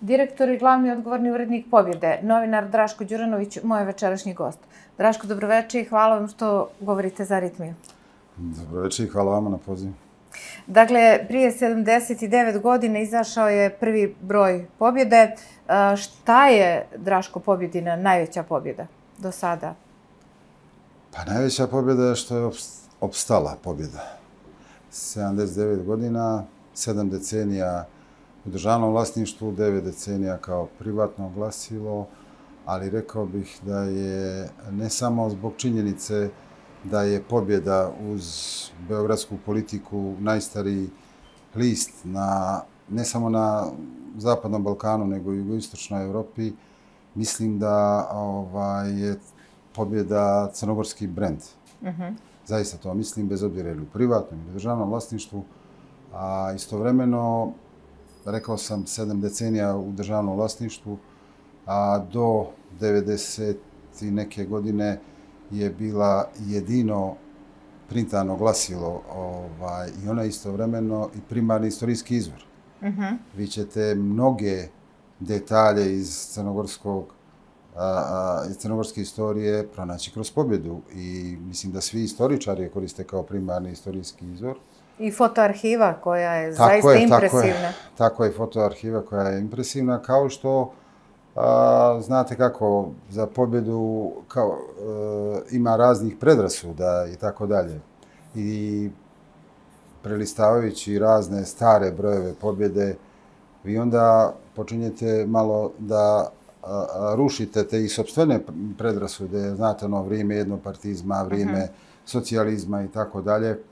direktor i glavni odgovorni urednik Pobjede, novinar Draško Đuranović, moj večerašnji gost. Draško, dobroveče i hvala vam što govorite za Aritmiju. Dobroveče i hvala vama na pozivu. Dakle, prije 79 godina izašao je prvi broj Pobjede. Šta je, Draško, Pobjedina najveća pobjeda do sada? Pa najveća pobjeda je što je opstala pobjeda. 79 godina, 7 decenija u državnom vlasništvu, 9 decenija kao privatno glasilo, ali rekao bih da je ne samo zbog činjenice da je Pobjeda uz beogradsku politiku najstariji list ne samo na Zapadnom Balkanu, nego i u jugoistočnoj Evropi, mislim da je Pobjeda crnogorski brend. Zaista to mislim, bez obzira ili u privatnom ili u državnom vlasništvu. A istovremeno, rekao sam, 7 decenija u državnom vlasništvu, a do 90 i neke godine je bila jedino printano glasilo i ona istovremeno i primarni istorijski izvor. Vi ćete mnoge detalje iz crnogorske istorije pronaći kroz Pobjedu i mislim da svi istoričari je koriste kao primarni istorijski izvor. I fotoarhiva koja je zaista impresivna. Tako je, fotoarhiva koja je impresivna, kao što znate kako za Pobjedu ima raznih predrasuda i tako dalje. I prelistavajući razne stare brojeve Pobjede, vi onda počinjete malo da rušite te i sopstvene predrasude, znate ono vrijeme jednopartizma, vrijeme socijalizma i tako dalje,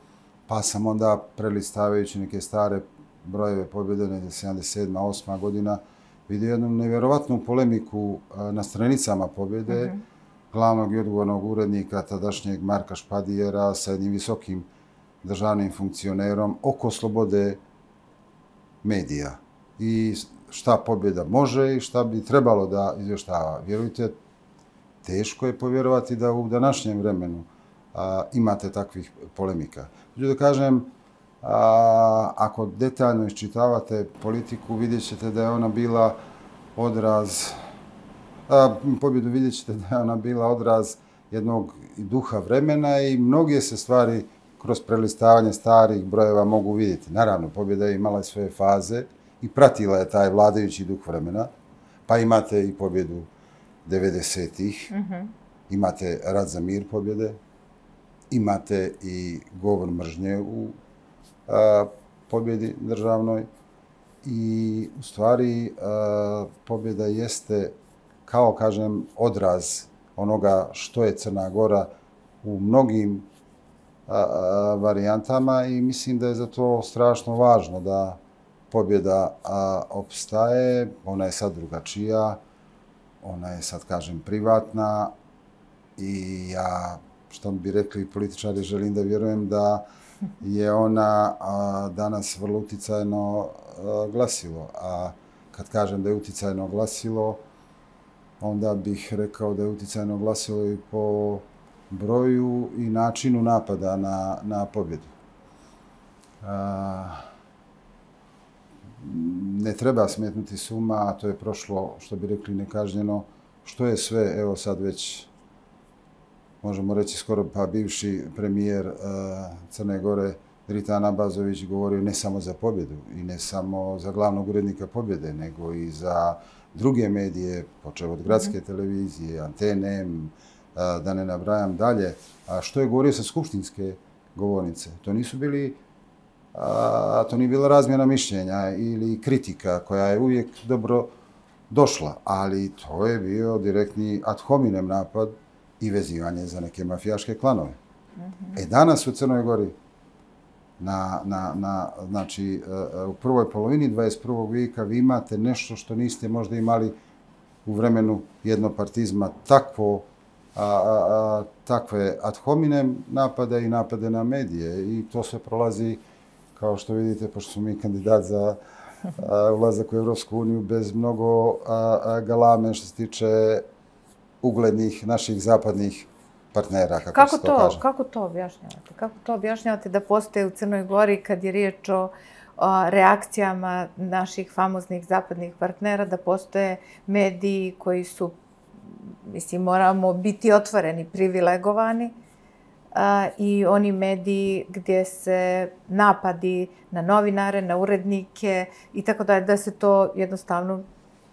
pa sam onda prelistavajući neke stare brojeve Pobjede, 77. 8. godina, vidio jednu nevjerovatnu polemiku na stranicama Pobjede, glavnog i odgovornog urednika tadašnjeg Marka Špadijera sa jednim visokim državnim funkcionerom oko slobode medija i šta Pobjeda može i šta bi trebalo da izvještava. Vjerujte, teško je povjerovati da u današnjem vremenu imate takvih polemika. Hoću da kažem, ako detaljno iščitavate politiku, vidjet ćete da je ona bila odraz, Pobjedu vidjet ćete da je ona bila odraz jednog duha vremena i mnoge se stvari kroz prelistavanje starih brojeva mogu vidjeti. Naravno, Pobjeda je imala svoje faze i pratila je taj vladajući duh vremena, pa imate i Pobjedu 90-ih, imate Rat za mir Pobjede, imate i govor mržnje u Pobjedi državnoj i u stvari Pobjeda jeste, kao kažem, odraz onoga što je Crna Gora u mnogim varijantama i mislim da je za to strašno važno da Pobjeda opstaje. Ona je sad drugačija, ona je sad, kažem, privatna i ja, što bi rekli političari, želim da vjerujem da je ona danas vrlo uticajno glasilo. A kad kažem da je uticajno glasilo, onda bih rekao da je uticajno glasilo i po broju i načinu napada na Pobjedu. Ne treba smetnuti s uma, a to je prošlo, što bi rekli, nekažnjeno, što je sve, evo sad već, možemo reći skoro pa bivši premijer Crne Gore, Dritan Abazović, govorio ne samo za Pobjedu i ne samo za glavnog urednika Pobjede, nego i za druge medije, počev od gradske televizije, Antene, da ne nabrajam dalje. A što je govorio sa skupštinske govornice? To nije bila razmjena mišljenja ili kritika koja je uvijek dobro došla, ali to je bio direktni ad hominem napad i vezivanje za neke mafijaške klanove. Danas u Crnoj Gori, znači u prvoj polovini 21. vijeka, vi imate nešto što niste možda imali u vremenu jednopartizma, takve ad hominem napade i napade na medije i to sve prolazi, kao što vidite, pošto smo mi kandidat za ulazak u Evropsku uniju, bez mnogo galame što se tiče uglednih naših zapadnih partnera, kako se to kaže. Kako to objašnjavate? Kako to objašnjavate da postoje u Crnoj Gori kad je riječ reakcijama naših famoznih zapadnih partnera da postoje mediji koji su, mislim, moramo biti otvoreni, privilegovani, i oni mediji gdje se napadi na novinare, na urednike i tako da se to jednostavno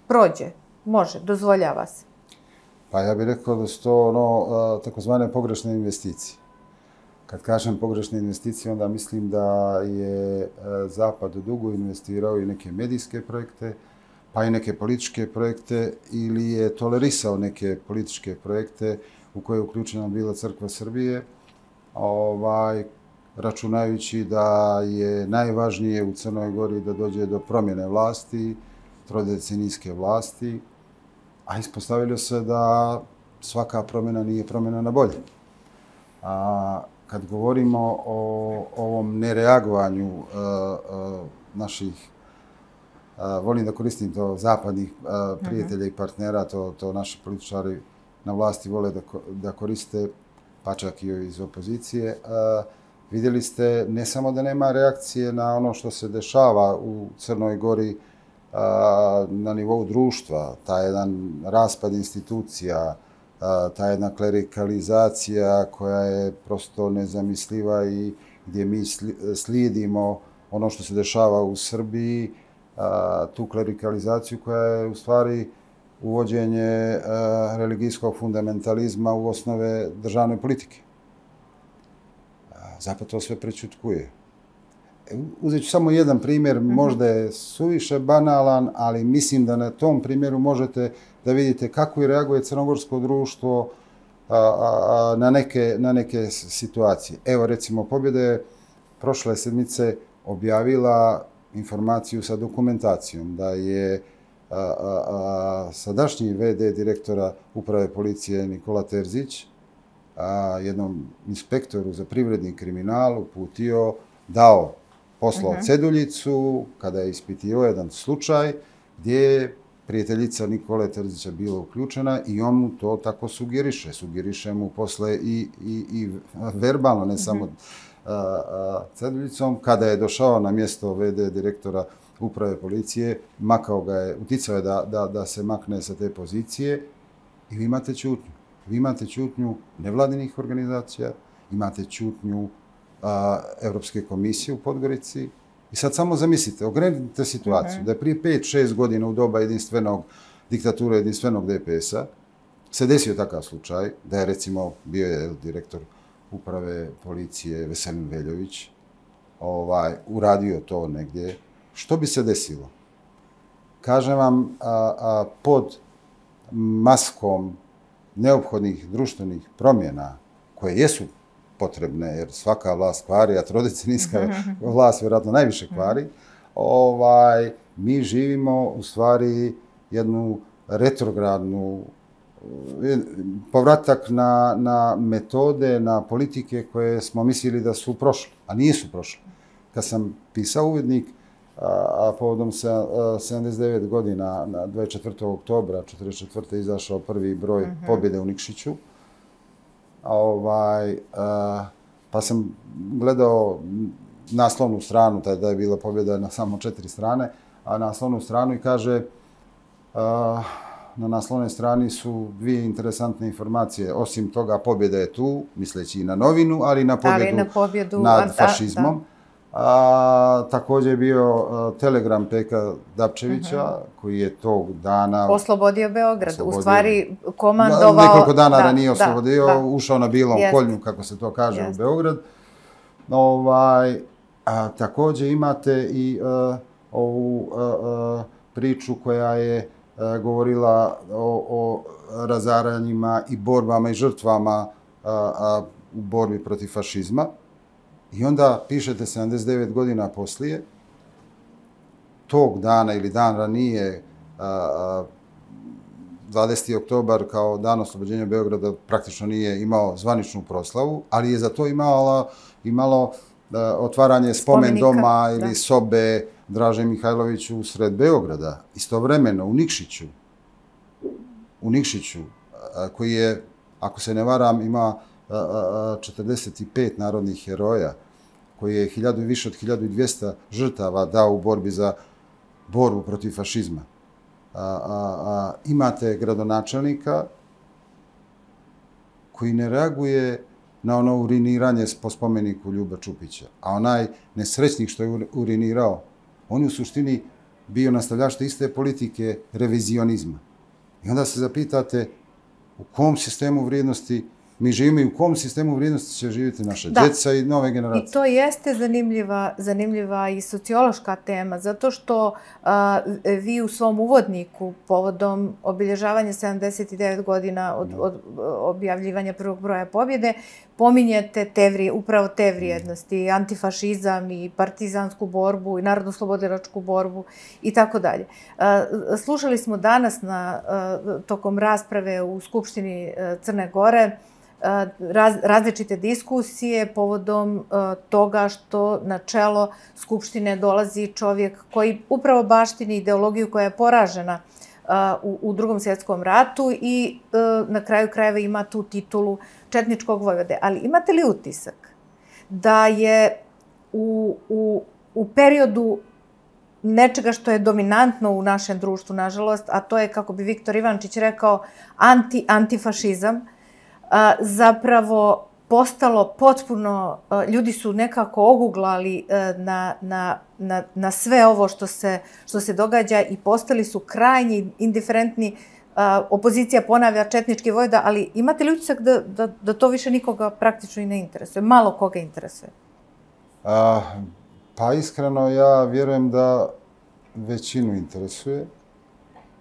prođe. Može, dozvoljava se. Pa ja bih rekao da su to takozvane pogrešne investicije. Kad kažem pogrešne investicije, onda mislim da je Zapad dugo investirao i neke medijske projekte, pa i neke političke projekte, ili je tolerisao neke političke projekte u koje je uključena bila Crkva Srbije, računajući da je najvažnije u Crnoj Gori da dođe do promjene vlasti, trodecenijske vlasti, a ispostavilo se da svaka promjena nije promjena na bolje. Kad govorimo o ovom nereagovanju naših, volim da koristim to, zapadnih prijatelja i partnera, to naši političari na vlasti vole da koriste, pa čak i iz opozicije, vidjeli ste ne samo da nema reakcije na ono što se dešava u Crnoj Gori na nivou društva, taj jedan raspad institucija, ta jedna klerikalizacija koja je prosto nezamisliva i gdje mi slijedimo ono što se dešava u Srbiji, tu klerikalizaciju koja je u stvari uvođenje religijskog fundamentalizma u osnove državne politike. Zapad to sve prećutkuje. Uzet ću samo jedan primjer, možda je suviše banalan, ali mislim da na tom primjeru možete da vidite kako i reaguje crnogorsko društvo na neke situacije. Evo, recimo, Pobjeda je prošle sedmice objavila informaciju sa dokumentacijom da je sadašnji VD direktora Uprave policije Nikola Terzić jednom inspektoru za privredni kriminal poslao ceduljicu kada je ispitio jedan slučaj gdje je prijateljica Nikole Terzića bila uključena i on mu to tako sugeriše. Sugeriše mu posle i verbalno, ne samo ceduljicom. Kada je došao na mjesto VD direktora Uprave policije, uticao je da se makne sa te pozicije i vi imate ćutnju. Vi imate ćutnju nevladinih organizacija, imate ćutnju Evropske komisije u Podgorici. I sad samo zamislite, ogledajte situaciju da je prije 5-6 godina u doba diktature jedinstvenog DPS-a se desio takav slučaj da je, recimo, bio je direktor Uprave policije Veselin Veljović uradio to negdje. Što bi se desilo? Kažem vam, pod maskom neophodnih društvenih promjena koje jesu potrebne, jer svaka vlast kvari, a trodecenijska vlast vjerojatno najviše kvari, mi živimo u stvari jednu retrogradnu povratak na metode, na politike koje smo mislili da su prošle, a nisu prošle. Kad sam pisao uvodnik, a povodom 79 godina, na 24. oktobra 1944. izašao prvi broj Pobjede u Nikšiću, pa sam gledao naslovnu stranu, tada je bila pobjeda na samo 4 strane, a naslovnu stranu i kaže, na naslovnoj strani su dvije interesantne informacije. Osim toga, pobjeda je tu, misleći i na novinu, ali i na pobjedu nad fašizmom. Također je bio telegram Peka Dapčevića, koji je tog dana oslobodio Beograd, u stvari komandovao... Nekoliko dana da nije oslobodio, ušao na Bilom Koljnu, kako se to kaže, u Beograd. Također imate i ovu priču koja je govorila o razaranjima i borbama i žrtvama u borbi protiv fašizma. I onda pišete 79 godina poslije, tog dana ili dan ranije, 20. oktobar kao dan oslobođenja Beograda praktično nije imao zvaničnu proslavu, ali je za to imalo otvaranje spomen doma ili sobe Draže Mihajloviću u sred Beograda. Istovremeno u Nikšiću, koji je, ako se ne varam, ima 45 narodnih heroja, koji je više od 1200 žrtava dao u borbi za borbu protiv fašizma. Imate gradonačelnika koji ne reaguje na ono uriniranje po spomeniku Ljuba Čupića. A onaj nesrećnik što je urinirao, on je u suštini bio nastavljač iste politike revizionizma. I onda se zapitate u kom sistemu vrijednosti mi živimo i u kom sistemu vrijednosti će živjeti naša djeca i nove generacije. I to jeste zanimljiva i sociološka tema, zato što vi u svom uvodniku povodom obilježavanja 79 godina od objavljivanja prvog broja pobjede pominjete upravo te vrijednosti, antifašizam i partizansku borbu i narodno-slobodilačku borbu i tako dalje. Slušali smo danas tokom rasprave u Skupštini Crne Gore različite diskusije povodom toga što na čelo Skupštine dolazi čovjek koji upravo baštini ideologiju koja je poražena u Drugom svjetskom ratu i na kraju krajeva ima tu titulu četničkog vojvode. Ali imate li utisak da je u periodu nečega što je dominantno u našem društvu, nažalost, a to je, kako bi Viktor Ivančić rekao, antifašizam, zapravo postalo potpuno, ljudi su nekako oguglali na sve ovo što se događa i postali su krajnji indiferentni. Opozicija ponavlja četnički vojvoda, ali imate li utisak da to više nikoga praktično i ne interesuje? Malo koga interesuje? Pa iskreno ja vjerujem da većinu interesuje,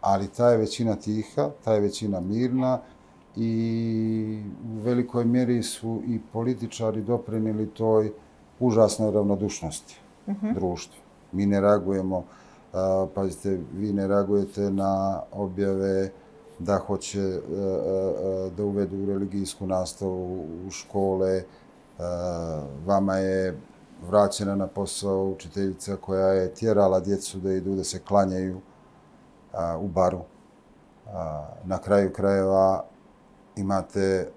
ali ta je većina tiha, ta je većina mirna i u velikoj mjeri su i političari doprinijeli toj užasnoj ravnodušnosti društva. Mi ne reagujemo, pazite, vi ne reagujete na objave da hoće da uvedu religijsku nastavu u škole. Vama je vraćena na posao učiteljica koja je tjerala djecu da idu da se klanjaju u baru. Na kraju krajeva imate,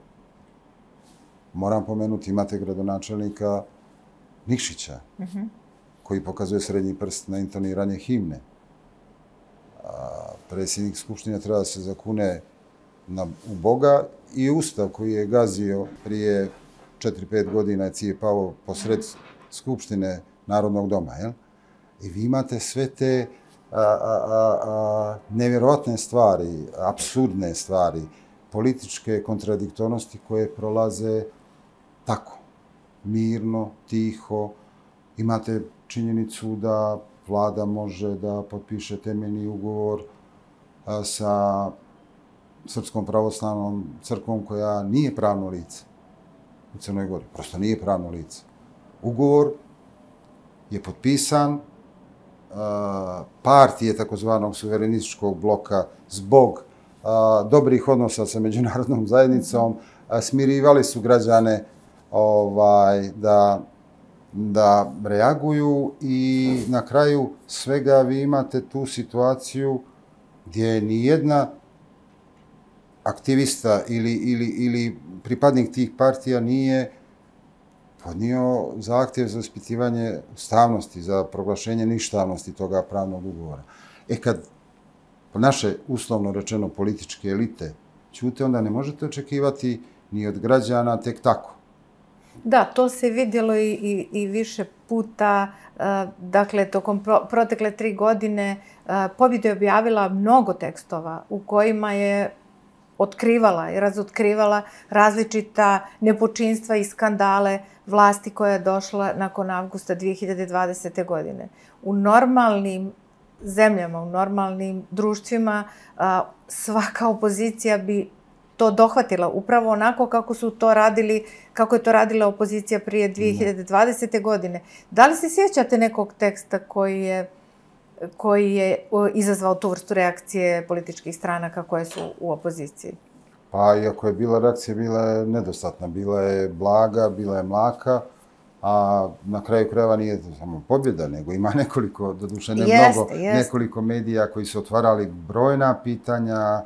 moram pomenuti, imate gradonačelnika Nikšića, koji pokazuje srednji prst na intoniranje himne. Predsjednik Skupštine treba da se zakune u Boga i Ustav koji je gazio prije 4-5 godina je cijepao posred Skupštine Narodnog doma. I vi imate sve te nevjerovatne stvari, apsurdne stvari, političke kontradiktornosti koje prolaze tako, mirno, tiho. Imate činjenicu da vlada može da potpiše temeljni ugovor sa Srpskom pravoslavnom crkvom koja nije pravno lice u Crnoj Gori. Prosto nije pravno lice. Ugovor je potpisan, partije takozvanog suverenističkog bloka zbog dobrih odnosa sa međunarodnom zajednicom smirivali su građane da reaguju i na kraju svega vi imate tu situaciju gdje nijedna aktivista ili pripadnik tih partija nije podnio zahtjev za ispitivanje ustavnosti, za proglašenje ništavnosti toga pravnog ugovora. Kad naše, uslovno rečeno, političke elite ćute, onda ne možete očekivati ni od građana tek tako. Da, to se vidjelo i više puta. Dakle, tokom protekle 3 godine Pobjeda je objavila mnogo tekstova u kojima je otkrivala i razotkrivala različita nepočinstva i skandale vlasti koja je došla nakon avgusta 2020. godine. U normalnim zemljama, u normalnim društvima svaka opozicija bi to dohvatila upravo onako kako je to radila opozicija prije 2020. godine. Da li se sjećate nekog teksta koji je izazvao tu vrstu reakcije političkih stranaka koje su u opoziciji? Pa, iako je bila reakcija, bila je nedostatna. Bila je blaga, bila je mlaka, a na kraju krajeva nije samo Pobjeda, nego ima nekoliko, doduše ne mnogo, nekoliko medija koji su otvarali brojna pitanja,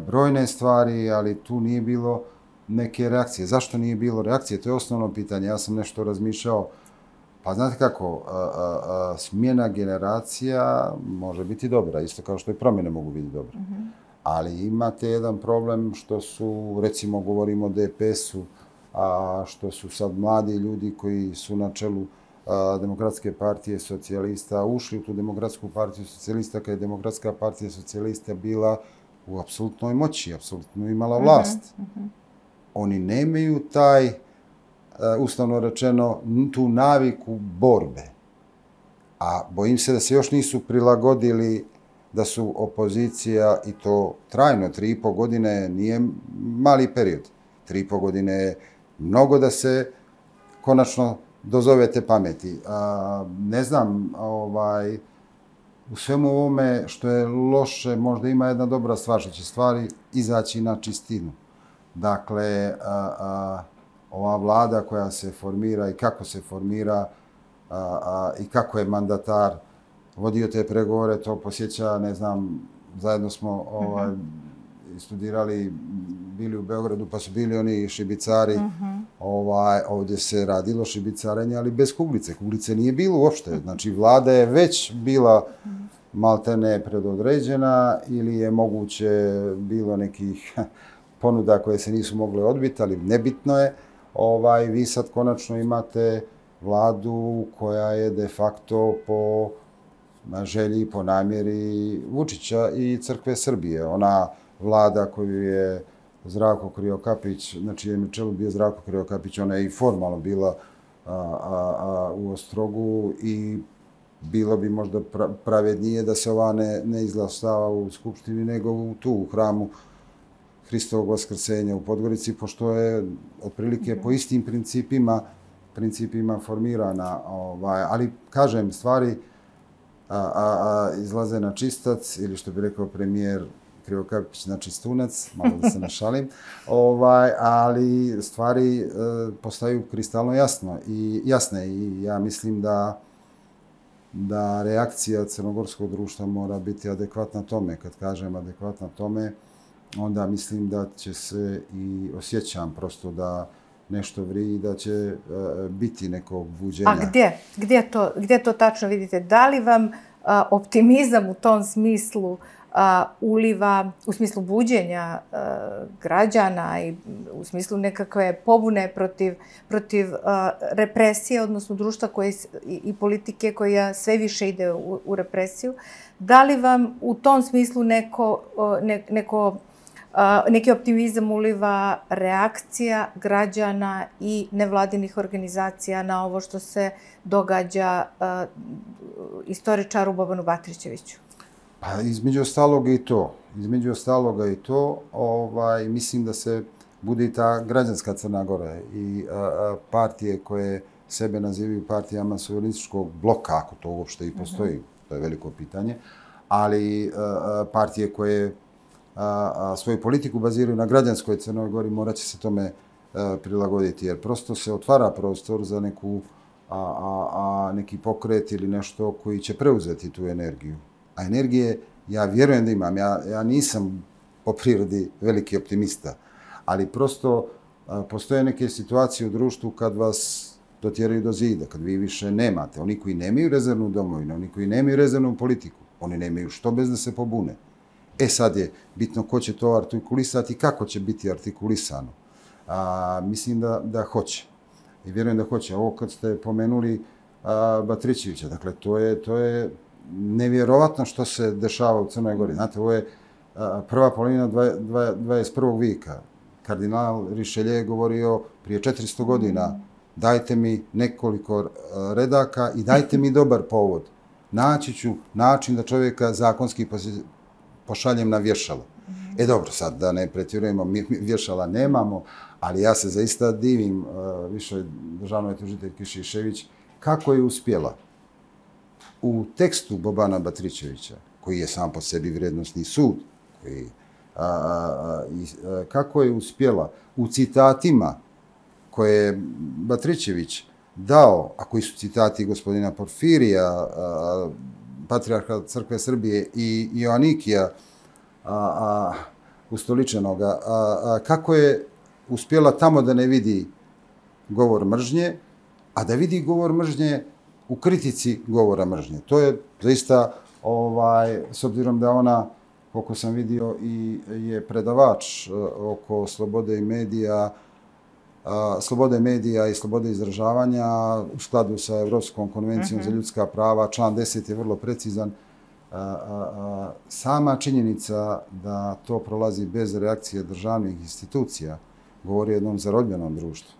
brojne stvari, ali tu nije bilo neke reakcije. Zašto nije bilo reakcije? To je osnovno pitanje. Ja sam nešto razmišljao Pa znate kako, smjena generacija može biti dobra, isto kao što i promjene mogu biti dobre. Ali imate jedan problem što su, recimo govorimo o DPS-u, a što su sad mladi ljudi koji su na čelu Demokratske partije socijalista ušli u tu Demokratsku partiju socijalista kada je Demokratska partija socijalista bila u apsolutnoj moći, apsolutno imala vlast. Oni nemaju taj, uslovno rečeno, tu naviku borbe. A bojim se da se još nisu prilagodili da su opozicija, i to trajno, 3,5 godine nije mali period. 3,5 godine je mnogo da se konačno dozovete pameti. Ne znam, u svemu ovome što je loše, možda ima jedna dobra stvar, što će stvari izaći na čistinu. Dakle, ova vlada koja se formira i kako se formira i kako je mandatar vodio te pregovore, to posjeća, ne znam, zajedno smo studirali, bili u Beogradu, pa su bili oni šibicari. Ovdje se radilo šibicarenje, ali bez kuglice. Kuglice nije bilo uopšte. Znači, vlada je već bila maltene predodređena ili je moguće bilo nekih ponuda koje se nisu mogle odbiti, ali nebitno je. Vi sad konačno imate vladu koja je de facto po želji, po namjeri Vučića i Crkve Srbije. Ona vlada koju je Zdravko Krivokapić, na čijem je čelu bio Zdravko Krivokapić, ona je i formalno bila u Ostrogu i bilo bi možda pravednije da se ova ne izglasava u Skupštini nego u hramu Hristovog Vaskrsenja u Podgorici, pošto je otprilike po istim principima formirana. Ali, kažem, stvari izlaze na čistac, ili što bi rekao premijer Krivokapić, na čistunac, malo da se našalim, ali stvari postaju kristalno jasne i ja mislim da reakcija crnogorskog društva mora biti adekvatna tome. Kad kažem adekvatna tome, onda mislim da će se i osjećam prosto da nešto vri i da će biti nekog buđenja. A gdje to tačno vidite? Da li vam optimizam u tom smislu uliva, u smislu buđenja građana i u smislu nekakve pobune protiv represije, odnosno društva i politike koja sve više ide u represiju? Da li vam u tom smislu neki optimizam uliva reakcija građana i nevladinih organizacija na ovo što se događa istoričaru Bobanu Batrićeviću? Pa između ostaloga i to. Mislim da se bude i ta građanska Crna Gora i partije koje sebe nazivaju partijama suverenističkog bloka, ako to uopšte i postoji, to je veliko pitanje, ali partije koje svoju politiku baziraju na građanskoj Crnoj Gori, morat će se tome prilagoditi, jer prosto se otvara prostor za neki pokret ili nešto koji će preuzeti tu energiju. A energije, ja vjerujem da imam. Ja nisam po prirodi veliki optimista, ali prosto postoje neke situacije u društvu kad vas dotjeraju do zida, kad vi više nemate. Oni koji nemaju rezervnu domovinu, oni koji nemaju rezervnu politiku, oni nemaju što bez da se pobune. Sad je bitno ko će to artikulisati i kako će biti artikulisano. Mislim da hoće. I vjerujem da hoće. Ovo kad ste pomenuli Batrićevića, dakle, to je nevjerovatno što se dešava u Crnoj Gori. Znate, ovo je prva polovina 21. vijeka. Kardinal Rišelje je govorio prije 400 godina, dajte mi nekoliko redaka i dajte mi dobar povod. Naći ću način da čovjeka zakonski pošaljem na vješalo. Dobro, sad da ne pretjerujemo, mi vješala nemamo, ali ja se zaista divim višoj državnoj tužiteljki Šišević kako je uspjela u tekstu Bobana Batrićevića, koji je sam po sebi vrijednosni sud, kako je uspjela u citatima koje je Batrićević dao, a koji su citati gospodina Porfirija, patrijarha Crkve Srbije i Joanikija ustoličenoga, kako je uspjela tamo da ne vidi govor mržnje, a da vidi govor mržnje u kritici govora mržnje. To je zaista, s obzirom da ona, koliko sam vidio, i je predavač oko slobode medija i slobode izražavanja u skladu sa Evropskom konvencijom za ljudska prava. Član 10 je vrlo precizan. Sama činjenica da to prolazi bez reakcije državnih institucija govori o jednom zarobljenom društvu.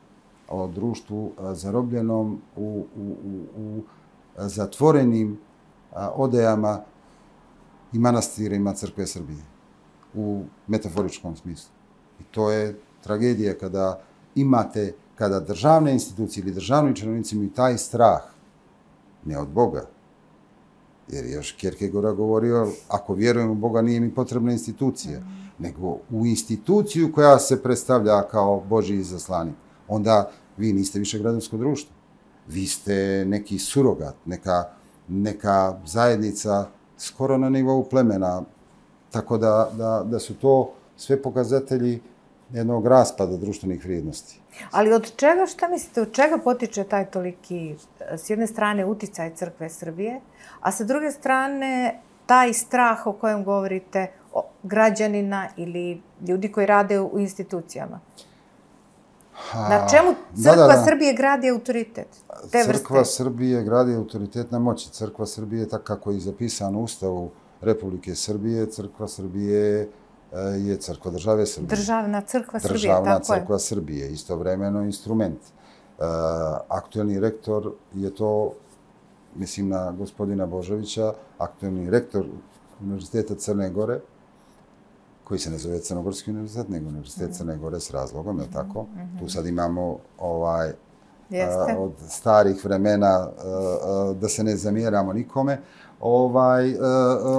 O društvu zarobljenom u zatvorenim odejama i manastirima Crkve Srbije u metaforičkom smislu. I to je tragedija kada državne institucije ili državni činovnici imaju taj strah, ne od Boga, jer je još Kierkegaard govorio, ako vjerujem u Boga nije mi potrebna institucija, nego u instituciju koja se predstavlja kao Božji izaslanik. Onda vi niste više građansko društvo. Vi ste neki surogat, neka zajednica skoro na nivou plemena. Tako da su to sve pokazatelji jednog raspada društvenih vrijednosti. Ali od čega, šta mislite, od čega potiče taj toliki, s jedne strane, uticaj Crkve Srbije, a sa druge strane, taj strah o kojem govorite građanina ili ljudi koji rade u institucijama? Na čemu Crkva Srbije gradi autoritet? Crkva Srbije gradi autoritet na moći. Crkva Srbije, tako kako je zapisano u Ustavu Republike Srbije, Crkva Srbije je crkva države Srbije. Državna crkva Srbije, Državna tako je. crkva Srbije, istovremeno instrument. Aktuelni rektor je to, mislim na gospodina Božovića, aktuelni rektor Univerziteta Crne Gore, koji se ne zove Crnogorski univerzitet, nego Univerzitet Crne Gore s razlogom, je tako? Tu sad imamo od starih vremena, da se ne zamjeramo nikome.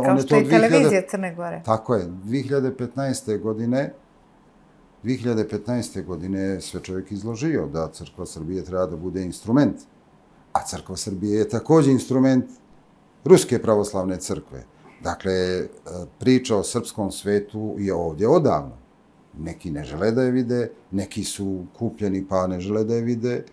Kao što je televizija Crne Gore. Tako je. 2015. godine sve čovjek izložio da Crkva Srbije treba da bude instrument. A Crkva Srbije je također instrument Ruske pravoslavne crkve. Dakle, priča o srpskom svetu je ovdje odavno. Neki ne žele da je vide, neki su kupljeni pa ne žele da je vide.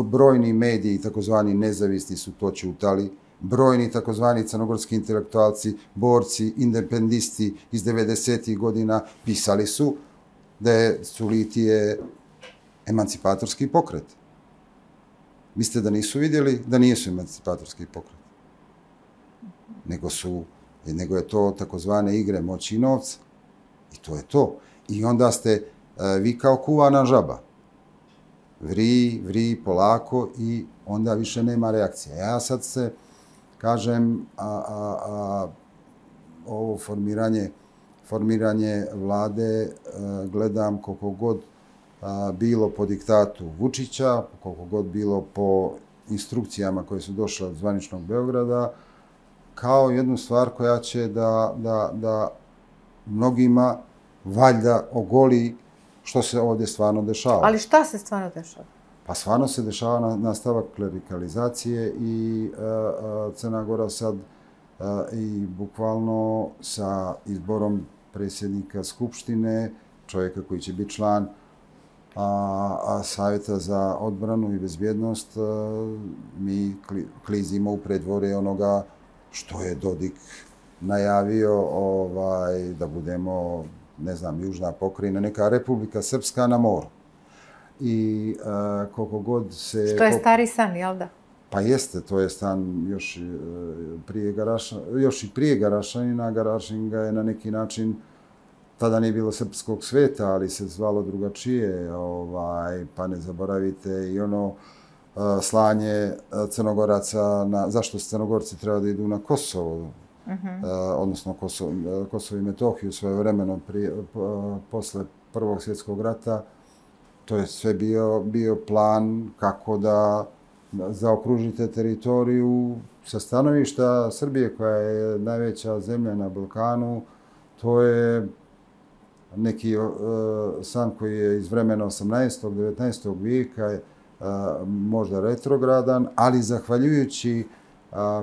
Brojni mediji, takozvani nezavisni, su to ćutali. Brojni takozvani crnogorski intelektualci, borci, independisti iz 90. godina pisali su da je Sulitije emancipatorski pokret. Mislite da nisu vidjeli da nisu emancipatorski pokret? Nego je to takozvane igre moći i novca. I to je to. I onda ste vi kao kuvana žaba. Vri polako i onda više nema reakcije. Ja sad se kažem, ovo formiranje vlade gledam koliko god bilo po diktatu Vučića, koliko god bilo po instrukcijama koje su došle od zvaničnog Beograda, kao jednu stvar koja će da mnogima valjda ogoli što se ovdje stvarno dešava. Ali šta se stvarno dešava? Pa stvarno se dešava nastavak klerikalizacije i Crna Gora sad i bukvalno sa izborom predsjednika Skupštine, čovjeka koji će biti član Savjeta za odbranu i bezbjednost, mi klizimo u predvorje onoga što je Dodik najavio da budemo, ne znam, južna pokrajina, neka Republika Srpska na moru. I koliko god se... Što je stari san, jel da? Pa jeste, to je stan još i prije Garašanina. Garašin ga je na neki način, tada nije bilo srpskog sveta, ali se zvalo drugačije, pa ne zaboravite i ono slanje Crnogoraca, zašto Crnogorci treba da idu na Kosovo, odnosno Kosovo i Metohiju svojevremeno posle Prvog svjetskog rata. To je sve bio plan kako da zaokružite teritoriju sa stanovišta Srbije, koja je najveća zemlja na Balkanu. To je neki san koji je iz vremena 18. 19. vijeka, možda retrogradan, ali zahvaljujući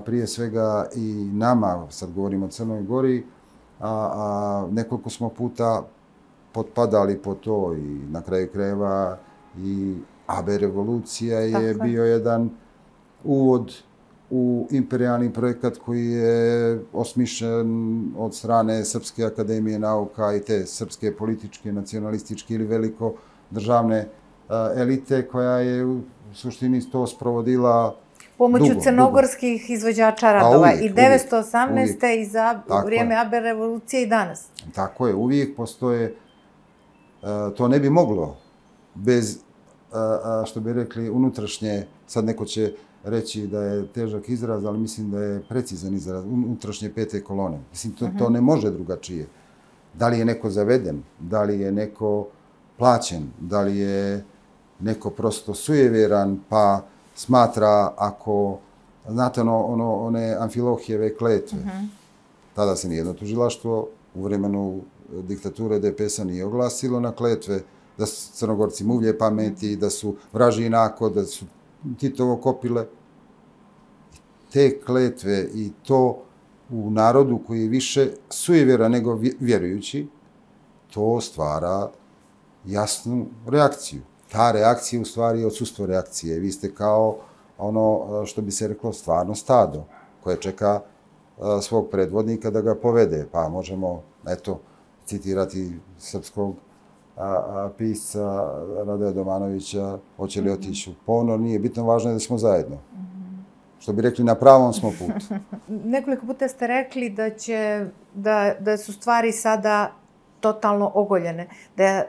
prije svega i nama, sad govorimo o Crnoj Gori, nekoliko smo puta potpadali po to i na kraju krajeva i AB revolucija je bio jedan uvod u imperijalni projekat koji je osmišljen od strane Srpske akademije nauka i te srpske političke, nacionalističke ili veliko državne elite koja je u suštini to sprovodila pomoću crnogorskih izvođača radova i 918. i za vrijeme AB revolucije i danas. Tako je, uvijek postoje, to ne bi moglo bez, što bi rekli, unutrašnje, sad neko će reći da je težak izraz, ali mislim da je precizan izraz, unutrašnje pete kolone. Mislim, to ne može drugačije. Da li je neko zaveden, da li je neko plaćen, da li je neko prosto sujeveran, pa smatra ako, znate one Amfilohijeve kletve, tada se nijedno tužilaštvo u vremenu diktature DPS-a nije oglasilo na kletve da su Crnogorci muvlje pameti, da su vraži inako, da su Titovo kopile. Te kletve i to u narodu koji je više sujevjera nego vjerujući, to stvara jasnu reakciju. Ta reakcija u stvari je odsustvo reakcije. Vi ste kao ono što bi se reklo stvarno stado koje čeka svog predvodnika da ga povede. Pa možemo, eto, citirati srpskog pisca Radoja Domanovića, hoće li otići u ponor, nije bitno, važno je da smo zajedno. Što bi rekli, na pravom smo putu. Nekoliko puta ste rekli da su stvari sada totalno ogoljene,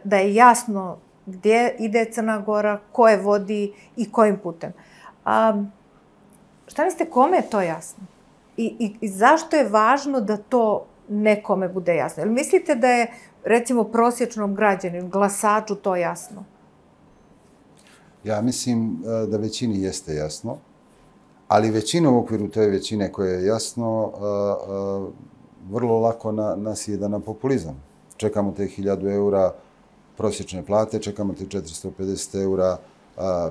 da je jasno gdje ide Crna Gora, ko je vodi i kojim putem. Šta mislite, kome je to jasno? I zašto je važno da to nekome bude jasno? Jel mislite da je, recimo, prosječnom građaninu, glasaču to jasno? Ja mislim da većini jeste jasno, ali većina u okviru te većine koje je jasno, vrlo lako nasjeda na populizam. Čekamo te 1000 eura prosječne plate, čekamo te 450 eura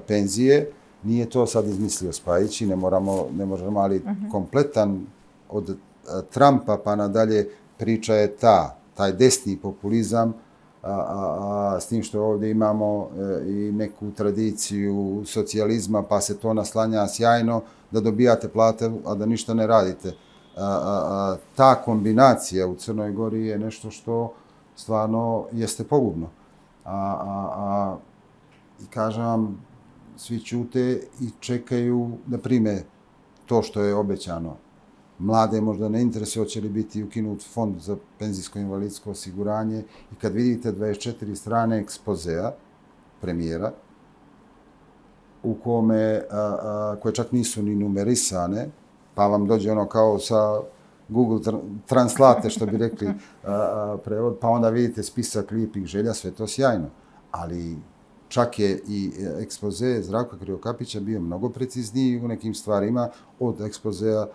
penzije. Nije to sad izmislio Spajić i ne možemo, ali kompletan od Trumpa pa nadalje priča je taj desni populizam, s tim što ovdje imamo i neku tradiciju socijalizma, pa se to naslanja sjajno da dobijate plate, a da ništa ne radite. Ta kombinacija u Crnoj Gori je nešto što stvarno jeste pogubno. I kažem vam, svi ćute i čekaju da prime to što je obećano. Mlade možda ne interesuje hoće li biti ukinut fond za penzijsko invalidsko osiguranje i kad vidite 24 strane ekspozea premijera u koje čak nisu ni numerisane, pa vam dođe ono kao sa Google Translate, što bi rekli prevod, pa onda vidite spisak lijepih želja, sve to sjajno. Ali čak je i ekspoze Zdravka Krivokapića bio mnogo precizniji u nekim stvarima od ekspozea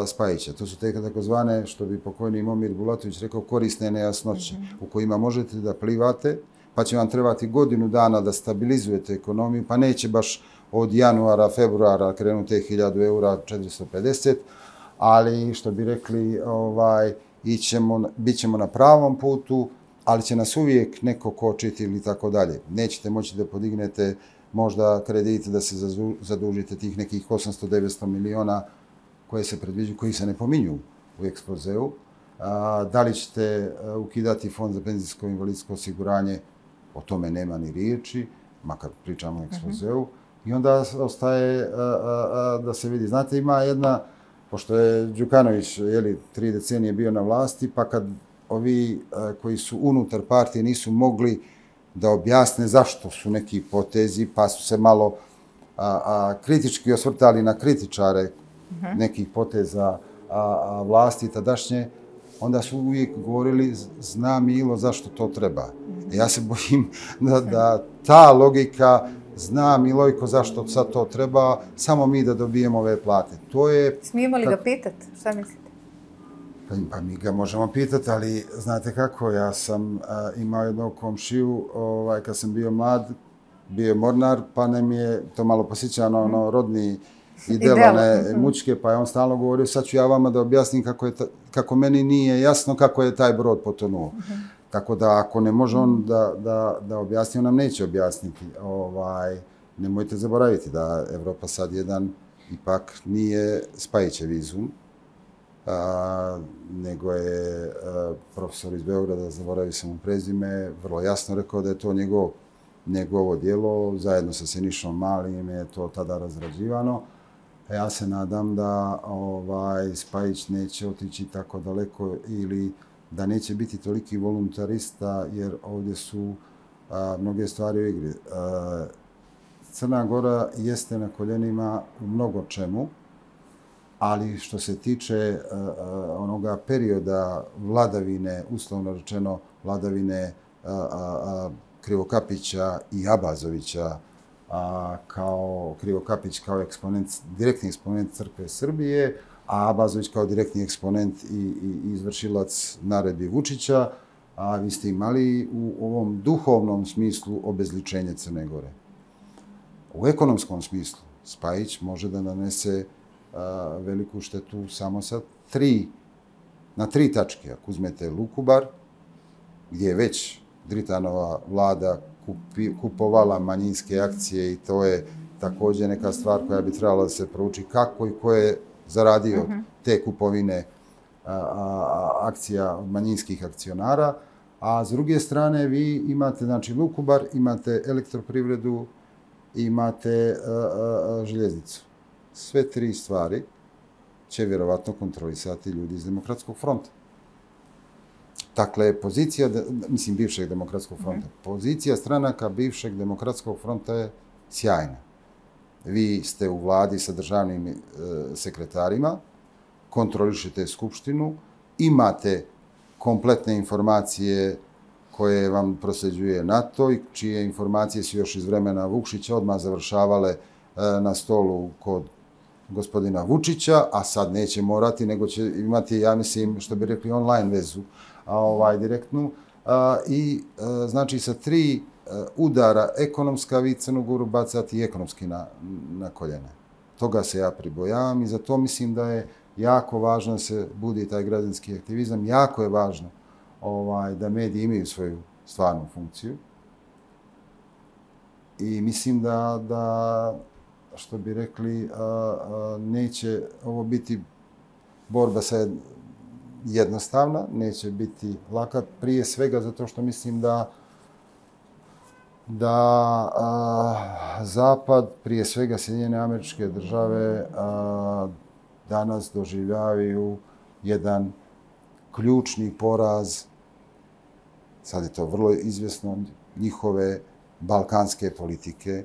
Spajića. To su te takozvane, što bi pokojni Momir Bulatović rekao, korisne nejasnoće, u kojima možete da plivate, pa će vam trebati godinu dana da stabilizujete ekonomiju, pa neće baš od januara, februara krenuti 1000 eura, 450, ali što bi rekli, bit ćemo na pravom putu, ali će nas uvijek neko kočiti ili tako dalje. Nećete moći da podignete možda kredite, da se zadužite tih nekih 800-900 miliona koje se predviđaju, koji se ne pominju u ekspozeu. Da li ćete ukidati fond za penzijsko invalidsko osiguranje, o tome nema ni riječi, makar pričamo o ekspozeu. I onda ostaje da se vidi. Znate, ima jedna, pošto je Đukanović 3 decenije bio na vlasti, pa kad ovi koji su unutar partije nisu mogli da objasne zašto su neki potezi, pa su se malo kritički osvrtali na kritičare nekih poteza vlasti tadašnje, onda su uvijek govorili zna Milo zašto to treba. Ja se bojim da ta logika zna Milojko zašto sad to treba, samo mi da dobijemo ove plate. Smijemo li ga pitati? Šta mislite? Pa mi ga možemo pitati, ali znate kako, ja sam imao jednog komšiju, kad sam bio mlad, bio je mornar, pa nam je to malo posjećano rodni idealne mučke, pa je on stalno govorio, sad ću ja vama da objasnim kako meni nije jasno kako je taj brod potonuo. Tako da ako ne može on da objasni, on nam neće objasniti. Nemojte zaboraviti da Evropa sad jedan ipak nije Spajićev izum, nego je profesor iz Beograda, zaboravio sam mu prezime, vrlo jasno rekao da je to njegovo djelo, zajedno sa Sinišom Malim je to tada razrađivano. Ja se nadam da Spajić neće otići tako daleko ili da neće biti toliki voluntarista, jer ovdje su mnoge stvari u igri. Crna Gora jeste na koljenima u mnogo čemu, ali što se tiče onoga perioda vladavine, uslovno rečeno vladavine Krivokapića i Abazovića, Krivokapić kao direktni eksponent Crkve Srbije, a Abazović kao direktni eksponent i izvršilac naredbi Vučića, a vi ste imali u ovom duhovnom smislu obezličenje Crne Gore. U ekonomskom smislu Spajić može da nanese veliku štetu samo na tri tačke. Ako uzmete Lukubar, gdje je već Dritanova vlada kupovala manjinske akcije i to je također neka stvar koja bi trebala da se prouči kako i ko je zaradio te kupovine akcija manjinskih akcionara, a s druge strane vi imate znači Lukubar, imate elektroprivredu, imate željeznicu. Sve tri stvari će vjerovatno kontrolisati ljudi iz Demokratskog fronta. Dakle, pozicija, bivšeg Demokratskog fronta, pozicija stranaka bivšeg Demokratskog fronta je sjajna. Vi ste u vladi sa državnim sekretarima, kontrolišete skupštinu, imate kompletne informacije koje vam prosljeđuje NATO i čije informacije su još iz vremena Vukšića odmah završavale na stolu kod gospodina Vučića, a sad neće morati, nego će imati, ja mislim, što bi rekli, online vezu, direktnu. I, znači, sa tri udara ekonomska, vi Crnu Goru bacati ekonomski na koljene. Toga se ja pribojavam i zato mislim da je jako važno da se budi taj građanski aktivizam. Jako je važno da mediji imaju svoju stvarnu funkciju. I mislim da što bi rekli, neće ovo biti borba jednostavna, neće biti laka, prije svega zato što mislim da Zapad, prije svega Sjedinjene Američke Države, danas doživljavaju jedan ključni poraz, sad je to vrlo izvjesno, njihove balkanske politike,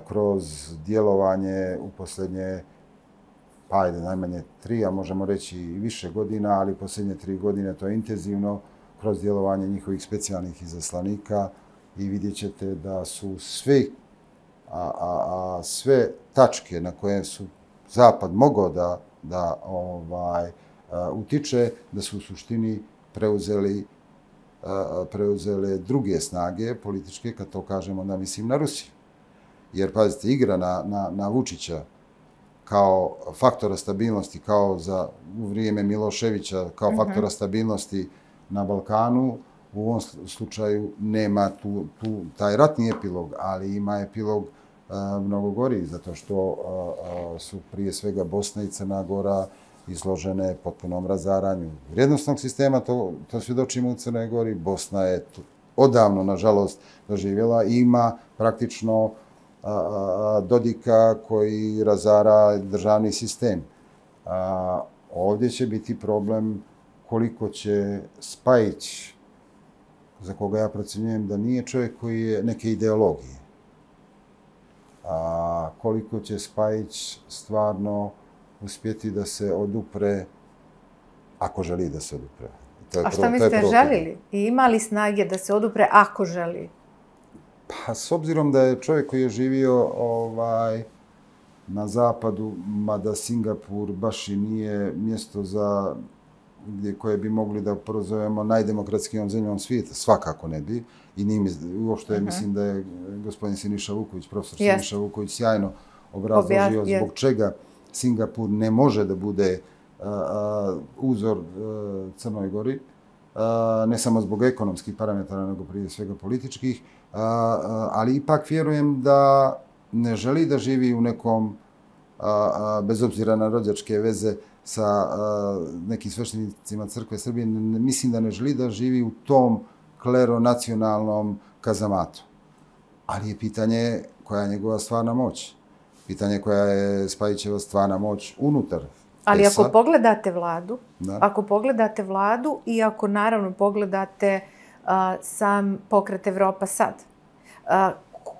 kroz djelovanje u posljednje, najmanje 3, a možemo reći i više godina, ali posljednje 3 godine to je intenzivno, kroz djelovanje njihovih specijalnih izaslanika i vidjet ćete da su sve tačke na koje su Zapad mogao da utiče, da su u suštini preuzele druge snage političke, kad to kažemo, onda mislim na Rusiju. Jer, pazite, igra na Vučića kao faktora stabilnosti, kao u vrijeme Miloševića, kao faktora stabilnosti na Balkanu, u ovom slučaju nema taj ratni epilog, ali ima epilog mnogo gori, zato što su prije svega Bosna i Crna Gora izložene potpunom razaranju vrijednosnog sistema, to svjedočimo u Crnoj Gori. Bosna je odavno, nažalost, doživjela i ima praktično Dodika koji razara državni sistem. Ovdje će biti problem koliko će Spajić, za koga ja procjenjujem da nije čovjek koji je neke ideologije, koliko će Spajić stvarno uspjeti da se odupre, ako želi da se odupre. A šta mislite, želili? I imali snage da se odupre ako želi? Pa, s obzirom da je čovjek koji je živio na zapadu, mada Singapur baš i nije mjesto koje bi mogli da prozovemo najdemokratskijom zemljom svijeta, svakako ne bi. I uopšte mislim da je gospodin Siniša Vuković, profesor Siniša Vuković, sjajno obrazložio zbog čega Singapur ne može da bude uzor Crnoj Gori, ne samo zbog ekonomskih parametara, nego prije svega političkih, ali ipak vjerujem da ne želi da živi u nekom bez obzira na rođačke veze sa nekim sveštenicima Crkve Srbije, mislim da ne želi da živi u tom kleronacionalnom kazamatu. Ali je pitanje koja je njegova stvarna moć. Pitanje koja je Spajićeva stvarna moć unutar Ali PES-a. ako pogledate vladu i ako naravno pogledate sam pokret Evropa sad,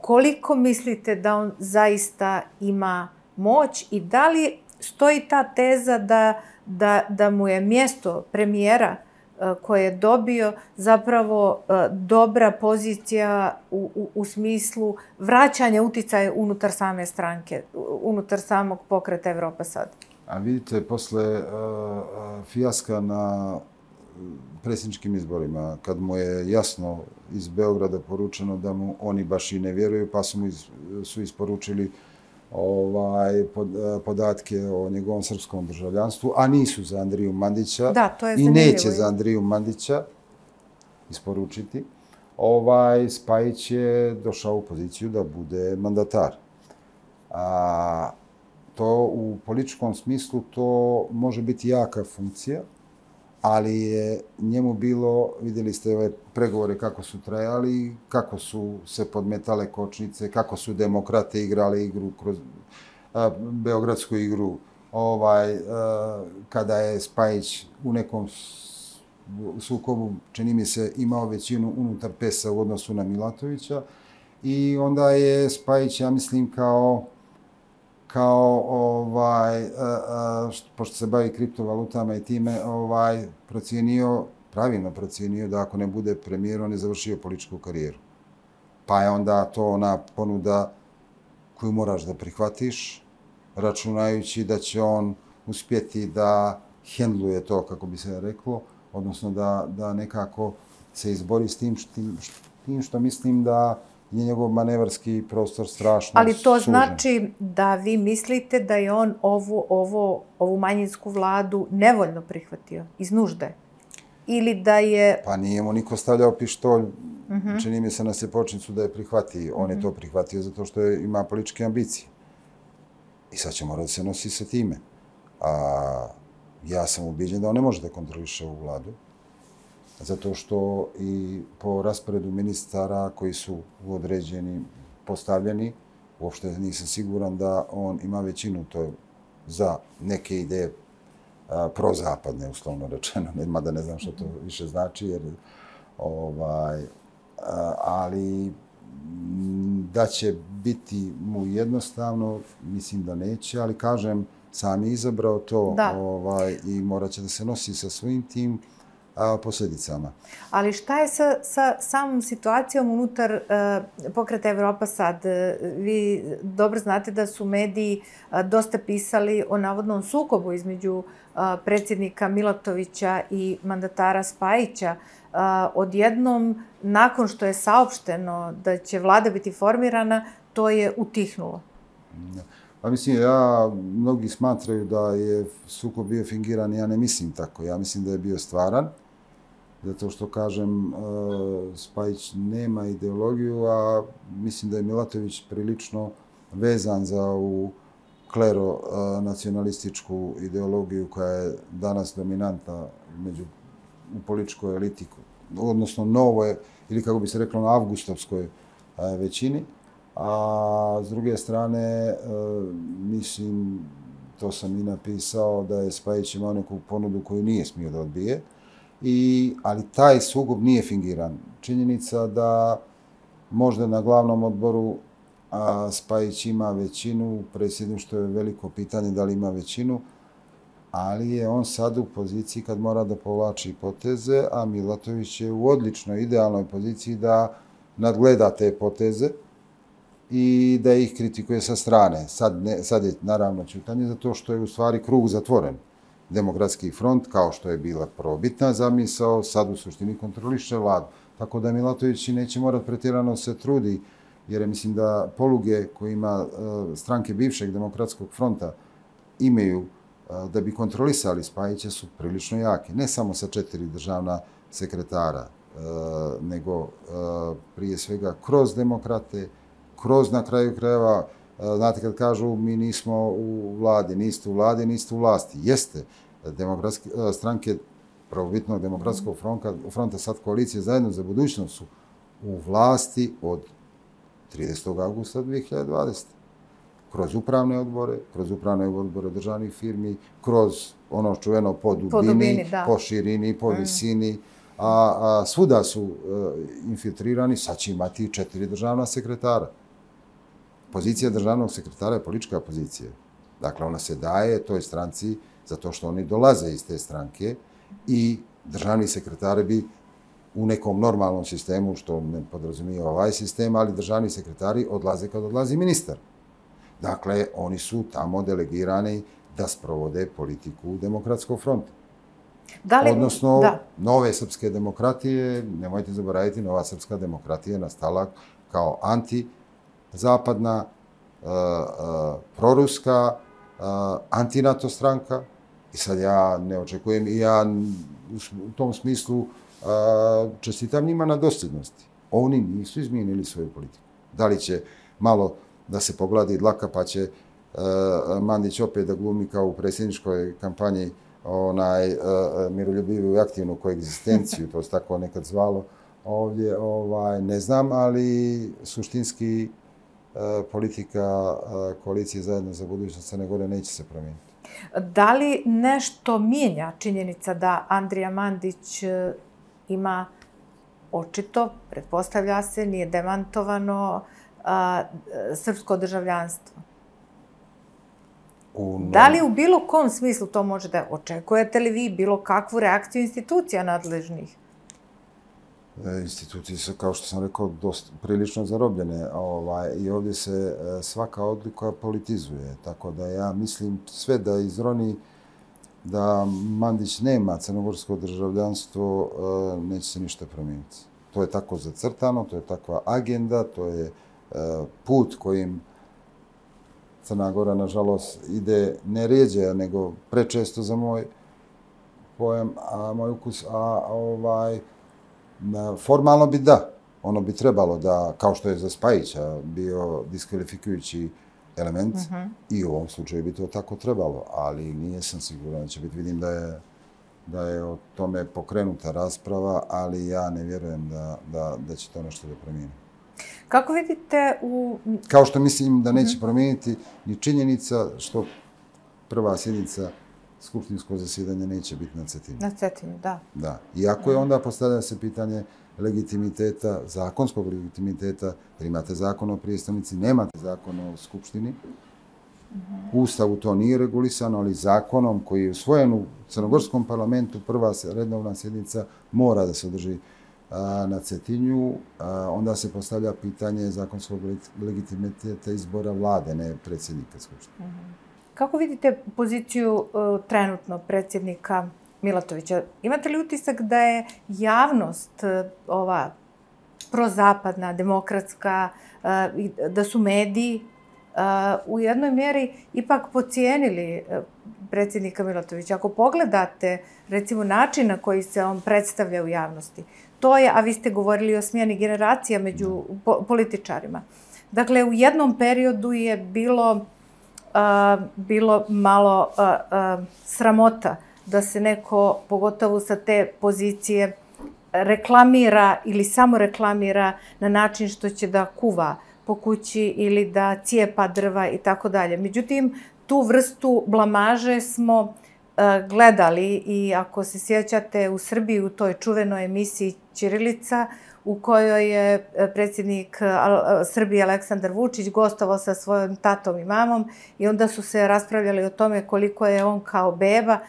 koliko mislite da on zaista ima moć i da li stoji ta teza da mu je mjesto premijera koje je dobio zapravo dobra pozicija u smislu vraćanja uticaja unutar same stranke, unutar samog pokreta Evropa sad? A vidite, posle fijaska na predsjedničkim izborima, kad mu je jasno iz Beograda poručeno da mu oni baš i ne vjeruju, pa su isporučili podatke o njegovom srpskom državljanstvu, a nisu za Andriju Mandića i neće za Andriju Mandića isporučiti. Spajić je došao u poziciju da bude mandatar. To u političkom smislu to može biti jaka funkcija, ali je njemu bilo, vidjeli ste ove pregovore kako su trajali, kako su se podmetale kočnice, kako su demokrate igrali igru kroz beogradsku igru, kada je Spajić u nekom sukobu, čini mi se, imao većinu unutar PES-a u odnosu na Milatovića i onda je Spajić, ja mislim, pošto se bavi kriptovalutama i time, pravilno procijenio da ako ne bude premijer, on je završio političku karijeru. Pa je onda to ona ponuda koju moraš da prihvatiš, računajući da će on uspjeti da hendluje to, kako bi se reklo, odnosno da nekako se izbori s tim što mislim da je njegov manevarski prostor strašno sužen. Ali to znači da vi mislite da je on ovu manjinsku vladu nevoljno prihvatio, iz nužde? Ili da je... Pa nije mu niko stavljao pištolj, čini mi se na sjepočnicu da je prihvatio. On je to prihvatio zato što ima političke ambicije. I sad će morati da se nosi sa time. Ja sam ubiđen da on ne može da kontroliše ovu vladu. Zato što i po rasporedu ministara koji su određeni, postavljeni, uopšte nisam siguran da on ima većinu to za neke ideje prozapadne, uslovno rečeno, mada ne znam što to više znači, jer, ali da će biti mu jednostavno, mislim da neće, ali kažem, sam je izabrao to i morat će da se nosi sa svojim tim posljedicama. Ali šta je sa samom situacijom unutar pokreta Evropa sad? Vi dobro znate da su mediji dosta pisali o navodnom sukobu između predsjednika Milatovića i mandatara Spajića. Odjednom, nakon što je saopšteno da će vlada biti formirana, to je utihnulo. Pa mislim, mnogi smatraju da je sukob bio fingiran, ja ne mislim tako. Ja mislim da je bio stvaran, zato što, kažem, Spajić nema ideologiju, a mislim da je Milatović prilično vezan za ovu klero-nacionalističku ideologiju koja je danas dominantna u političkoj eliti, odnosno novoj, ili kako bi se reklo, na avgustovskoj većini. A s druge strane, mislim, to sam i napisao, da je Spajić imao neku ponudu koju nije smio da odbije, ali taj sukob nije fingiran. Činjenica da možda na glavnom odboru Spajić ima većinu, predsjedništvo je veliko pitanje da li ima većinu, ali je on sad u poziciji kad mora da povlači poteze, a Milatović je u odličnoj, idealnoj poziciji da nadgleda te poteze i da ih kritikuje sa strane. Sad je naravno ćutanje zato što je u stvari krug zatvoren. Demokratski front, kao što je bila probitna zamisao, sad u suštini kontroliše vladu. Tako da Milatović neće morati pretjerano se trudi, jer mislim da poluge koje ima stranke bivšeg demokratskog fronta imaju da bi kontrolisali Spajića su prilično jake. Ne samo sa 4 državna sekretara, nego prije svega kroz demokrate, kroz na kraju krajeva znate kad kažu mi nismo u vladi, niste u vladi, niste u vlasti. Jeste. Stranke prvobitnog demokratskog fronta, sad koalicije zajedno za budućnost su u vlasti od 30. augusta 2020. Kroz upravne odbore državnih firmi, kroz ono čuveno po dubini, po širini, po visini, a svuda su infiltrirani, sad će imati 4 državna sekretara. Pozicija državnog sekretara je politička pozicija. Dakle, ona se daje toj stranci zato što oni dolaze iz te stranke i državni sekretari bi u nekom normalnom sistemu, što ne podrazumije ovaj sistem, ali državni sekretari odlaze kad odlazi ministar. Dakle, oni su tamo delegirani da sprovode politiku Demokratskog fronta. Odnosno, nove srpske demokratije, nemojte zaboraviti, nova srpska demokratija je nastala kao antizapadna, proruska, antinato stranka. I sad ja ne očekujem i ja u tom smislu čestitam njima na dosljednosti. Oni nisu izmijenili svoju politiku. Da li će malo da se pogladi dlaka pa će Mandić opet da glumi kao u predsjedničkoj kampanji miroljubivu i aktivnu koegzistenciju, to se tako nekad zvalo ovdje, ne znam, ali suštinski politika koalicije zajedno za budućnost Crne Gore neće se promijeniti. Da li nešto mijenja činjenica da Andrija Mandić ima očito, pretpostavlja se, nije demantovano, srpsko državljanstvo? Da li u bilo kom smislu to može da očekujete li vi bilo kakvu reakciju institucija nadležnih? Institucije su, kao što sam rekao, prilično zarobljene i ovdje se svaka odluka politizuje. Tako da ja mislim sve da izroni da Mandić nema crnogorsko državljanstvo, neće se ništa promijeniti. To je tako zacrtano, to je takva agenda, to je put kojim Crna Gora, nažalost, ide ne rijeđe, nego prečesto za moj pojam, moj ukus, formalno bi da. Ono bi trebalo da, kao što je za Spajića bio diskvalifikujući element, i u ovom slučaju bi to tako trebalo, ali nije sam siguran da će biti. Vidim da je o tome pokrenuta rasprava, ali ja ne vjerujem da će to nešto da promijeni. Kako vidite Kao što mislim da neće promijeniti ni činjenica što prva sjednica skupštinskog zasjedanja neće biti na Cetinju. Na Cetinju, da. Da. Iako je onda postavlja se pitanje legitimiteta, zakonskog legitimiteta, jer imate zakon o prijestolnici, nemate zakon o skupštini. U Ustavu to nije regulisano, ali zakonom koji je usvojen u crnogorskom parlamentu, prva redovna sjednica mora da se održi na Cetinju, onda se postavlja pitanje zakonskog legitimiteta izbora vlade, ne predsjednika skupštine. Kako vidite poziciju trenutno predsjednika Milatovića? Imate li utisak da je javnost ova prozapadna, demokratska, da su mediji u jednoj mjeri ipak pocijenili predsjednika Milatovića? Ako pogledate, recimo, način na koji se on predstavlja u javnosti, to je, a vi ste govorili o smjeni generacija među političarima. Dakle, u jednom periodu je bilo malo sramota da se neko, pogotovo sa te pozicije, reklamira ili samo reklamira na način što će da kuva po kući ili da cijepa drva i tako dalje. Međutim, tu vrstu blamaže smo gledali i ako se sjećate u Srbiji u toj čuvenoj emisiji Ćirilica u kojoj je predsjednik Srbije Aleksandar Vučić gostovao sa svojim tatom i mamom i onda su se raspravljali o tome koliko je on kao beba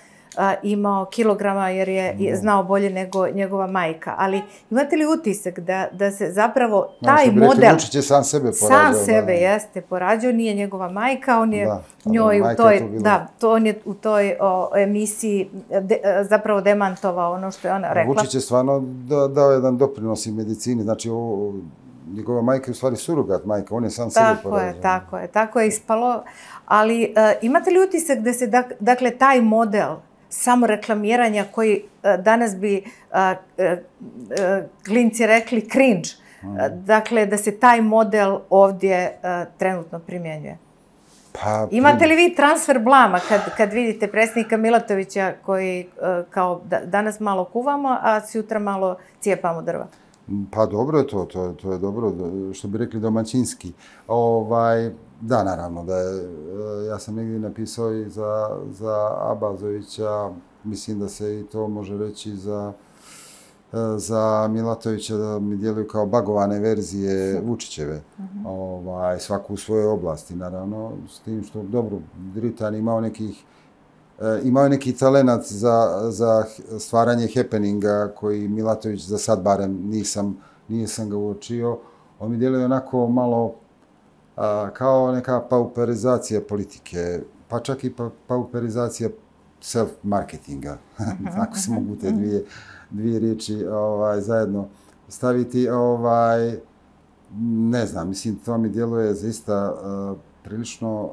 imao kilograma jer je znao bolje nego njegova majka. Ali imate li utisak da se zapravo taj model... Vučić je sam sebe porađao. Sam sebe jeste porađao, nije njegova majka, on je njoj u toj emisiji zapravo demantovao ono što je ona rekla. Vučić je stvarno dao jedan doprinos i medicini, znači njegova majka je u stvari surogat majka, on je sam sebe porađao. Tako je ispalo. Ali imate li utisak da se, dakle, taj model samo reklamiranja koji danas bi klinci rekli cringe, dakle, da se taj model ovdje trenutno primjenjuje? Imate li vi transfer blama kad vidite predsjednika Milatovića koji kao danas malo kuvamo, a sutra malo cijepamo drva? Pa dobro je to je dobro, što bi rekli domaćinski. Da, naravno, ja sam negdje napisao i za Abazovića, mislim da se i to može reći za Milatovića, da mi djeluju kao bagovane verzije Vučićeve, svaku u svojoj oblasti, naravno, s tim što, dobro, Dritan imao je neki talenat za stvaranje happeninga koji Milatović za sad barem nisam ga uočio. On mi djeluje onako malo kao neka pauperizacija politike, pa čak i pauperizacija self-marketinga, ako se mogu te dvije riječi zajedno staviti. Ne znam, mislim, to mi djeluje zaista prilično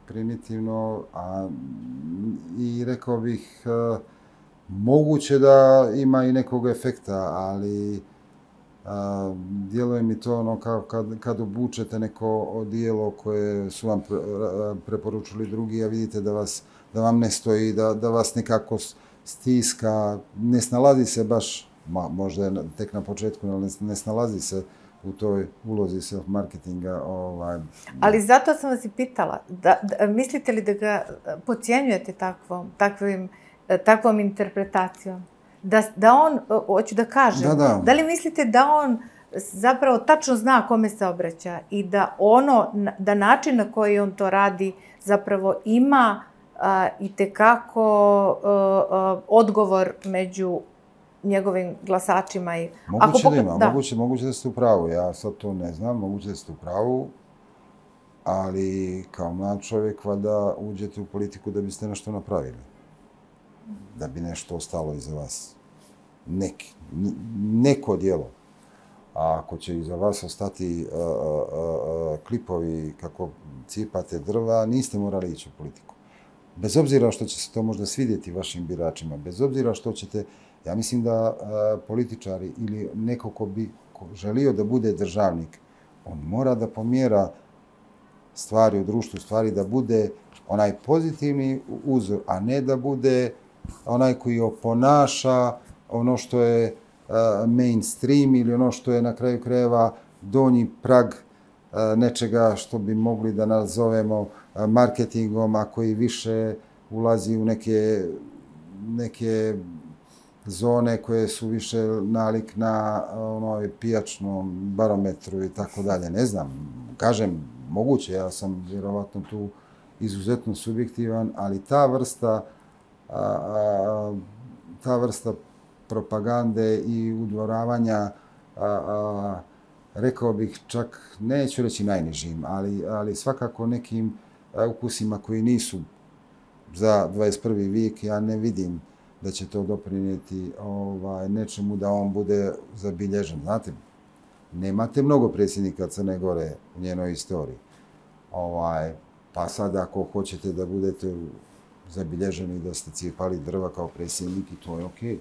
primitivno, i rekao bih moguće da ima i nekog efekta, ali djeluje mi to ono kao kad obučete neko odijelo koje su vam preporučili drugi, a vidite da vam ne stoji, da vas nekako stiska, ne snalazi se baš, možda je tek na početku, ali ne snalazi se u toj ulozi self-marketinga. Ali zato sam vas i pitala, mislite li da ga podcjenjujete takvom interpretacijom? Da on, hoću da kažem, da li mislite da on zapravo tačno zna kome se obraća i da način na koji on to radi zapravo ima itekako odgovor među njegovim glasačima? Moguće da ima, moguće da ste u pravu. Ja sad to ne znam, moguće da ste u pravu, ali kao mlad čovjek valjda uđete u politiku da biste nešto napravili. Da bi nešto ostalo iza vas. Neko djelo. A ako će iza vas ostati klipovi kako cipate drva, niste morali ići u politiku. Bez obzira što će se to možda svidjeti vašim biračima, bez obzira što ćete, ja mislim da političari ili neko ko bi želio da bude državnik, on mora da pomjera stvari u društvu, stvari da bude onaj pozitivni uzor, a ne da bude onaj koji oponaša ono što je mainstream ili ono što je na kraju krajeva donji prag nečega što bi mogli da nazovemo marketingom, a koji više ulazi u neke zone koje su više nalik na pijačnom barometru i tako dalje. Ne znam, kažem, moguće, ja sam vjerovatno tu izuzetno subjektivan, ali ta vrsta propagande i udvoravanja, rekao bih čak, neću reći najnižim, ali svakako nekim ukusima koji nisu za 21. vijek, ja ne vidim da će to doprinijeti nečemu da on bude zabilježen. Znate, nemate mnogo predsjednika Crne Gore u njenoj istoriji. Pa sad ako hoćete da budete zabilježeni da ste cijepali drva kao predsjednik, i to je okej.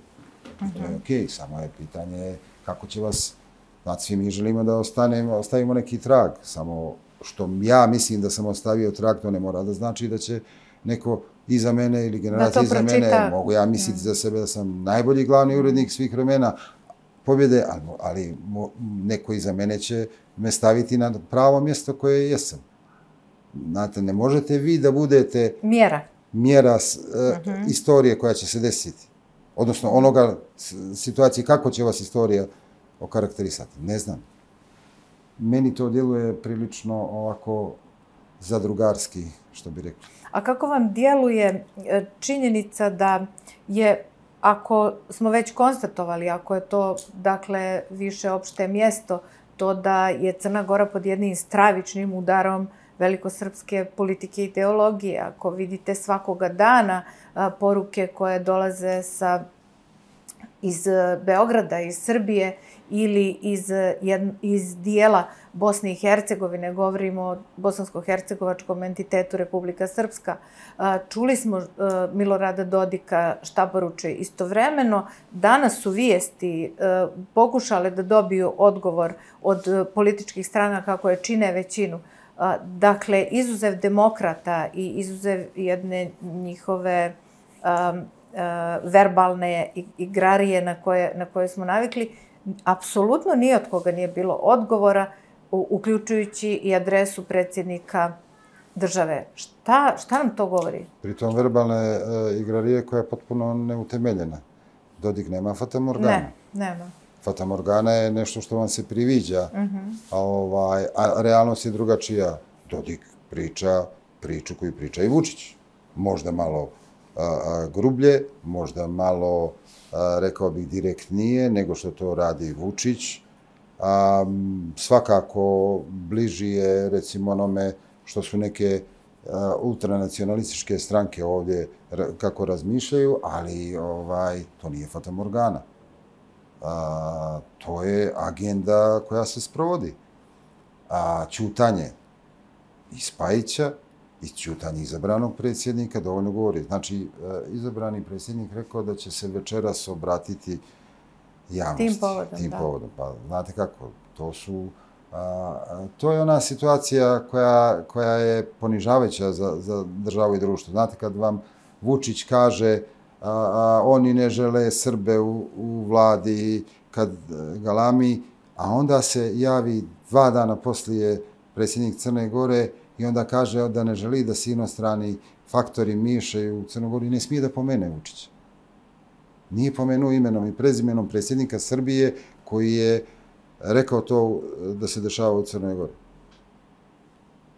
To je okej, samo je pitanje kako će vas, znači svi mi želimo da ostavimo neki trag, samo što ja mislim da sam ostavio trag, to ne mora da znači da će neko iza mene ili generacija iza mene, mogu ja misliti za sebe da sam najbolji glavni urednik svih vremena pobjede, ali neko iza mene će me staviti na pravo mjesto koje jesam. Znate, ne možete vi da budete mjera istorije koja će se desiti. Odnosno onoga situacije kako će vas istorija okarakterisati. Ne znam. Meni to djeluje prilično ovako zadrugarski, što bi rekli. A kako vam djeluje činjenica da je, ako smo već konstatovali, ako je to, dakle, više opšte mjesto, to da je Crna Gora pod jednim stravičnim udarom velikosrpske politike i ideologije, ako vidite svakoga dana poruke koje dolaze sa iz Beograda, iz Srbije ili iz dijela Bosne i Hercegovine, govorimo o bosansko-hercegovačkom entitetu Republika Srpska. Čuli smo Milorada Dodika šta poručuje. Istovremeno, danas su vijesti pokušale da dobiju odgovor od političkih stranaka koje čine većinu. Dakle, izuzev demokrata i izuzev jedne njihove verbalne igrarije na koje smo navikli, apsolutno ni od koga nije bilo odgovora, uključujući i adresu predsjednika države. Šta nam to govori? Pritom verbalne igrarije koja je potpuno neutemeljena. Dodik nema fatamorgana. Ne, nema. Fatamorgana je nešto što vam se priviđa, a realnost je drugačija. Dodik priča priču koju priča i Vučić. Možda malo grublje, možda malo, rekao bih, direktnije nego što to radi Vučić. Svakako bliži je, recimo, onome što su neke ultranacionalističke stranke ovdje kako razmišljaju, ali to nije fatamorgana. To je agenda koja se sprovodi. Ćutanje i Spajića i ćutanje izabranog predsjednika dovoljno govori. Znači, izabrani predsjednik rekao da će se večeras obratiti javnosti. Tim povodom. Pa, znate kako, to je ona situacija koja je ponižavajuća za državu i društvo. Znate, kad vam Vučić kaže oni ne žele Srbe u vladi, kad galami, a onda se javi 2 dana poslije predsjednik Crne Gore i onda kaže da ne želi da se inostrani faktori miješaju u Crnogoru i ne smije da pomene Vučića. Nije pomenuo imenom i prezimenom predsjednika Srbije koji je rekao to da se dešava u Crnoj Gori.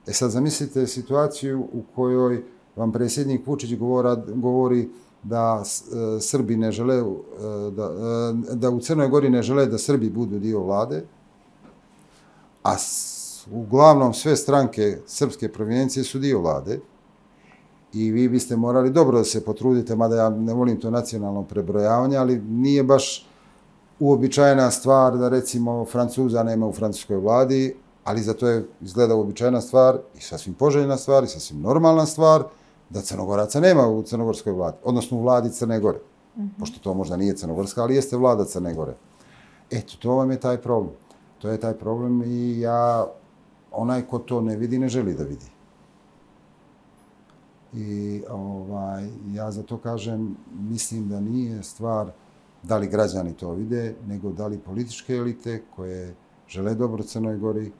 Sad zamislite situaciju u kojoj vam predsjednik Vučić govori da Srbi ne žele, da u Crnoj Gori ne žele da Srbi budu dio vlade, a uglavnom sve stranke srpske provijencije su dio vlade i vi biste morali dobro da se potrudite, mada ja ne volim to nacionalno prebrojavanje, ali nije baš uobičajena stvar da recimo Francuza nema u francuskoj vladi, ali za to je izgleda uobičajena stvar i sasvim poželjna stvar i sasvim normalna stvar da Crnogoraca nema u crnogorskoj vladi, odnosno u vladi Crne Gore, pošto to možda nije crnogorska, ali jeste vlada Crne Gore. Eto, to vam je taj problem. To je taj problem i onaj ko to ne vidi, ne želi da vidi. I ja za to kažem, mislim da nije stvar da li građani to vide, nego da li političke elite koje žele dobro Crnoj Gori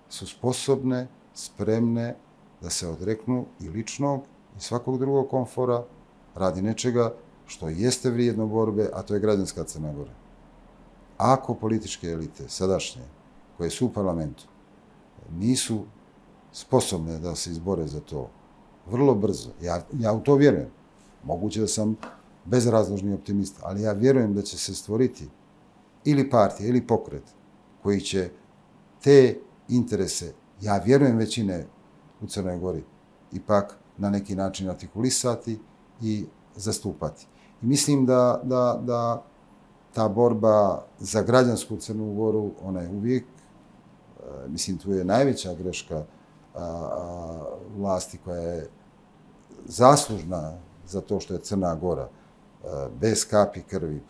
su sposobne, spremne da se odreknu i ličnog i svakog drugog komfora radi nečega što jeste vrijedno borbe, a to je građanska Crna Gora. Ako političke elite sadašnje, koje su u parlamentu, nisu sposobne da se izbore za to vrlo brzo, ja u to vjerujem, moguće da sam bezrazložni optimist, ali ja vjerujem da će se stvoriti ili partija ili pokret koji će te interese, ja vjerujem većine u Crnoj Gori, ipak na neki način artikulisati i zastupati. I mislim da ta borba za građansku Crnu Goru, ona je uvijek, mislim, tu je najveća greška vlasti koja je zaslužna za to što je Crna Gora bez kapi krvi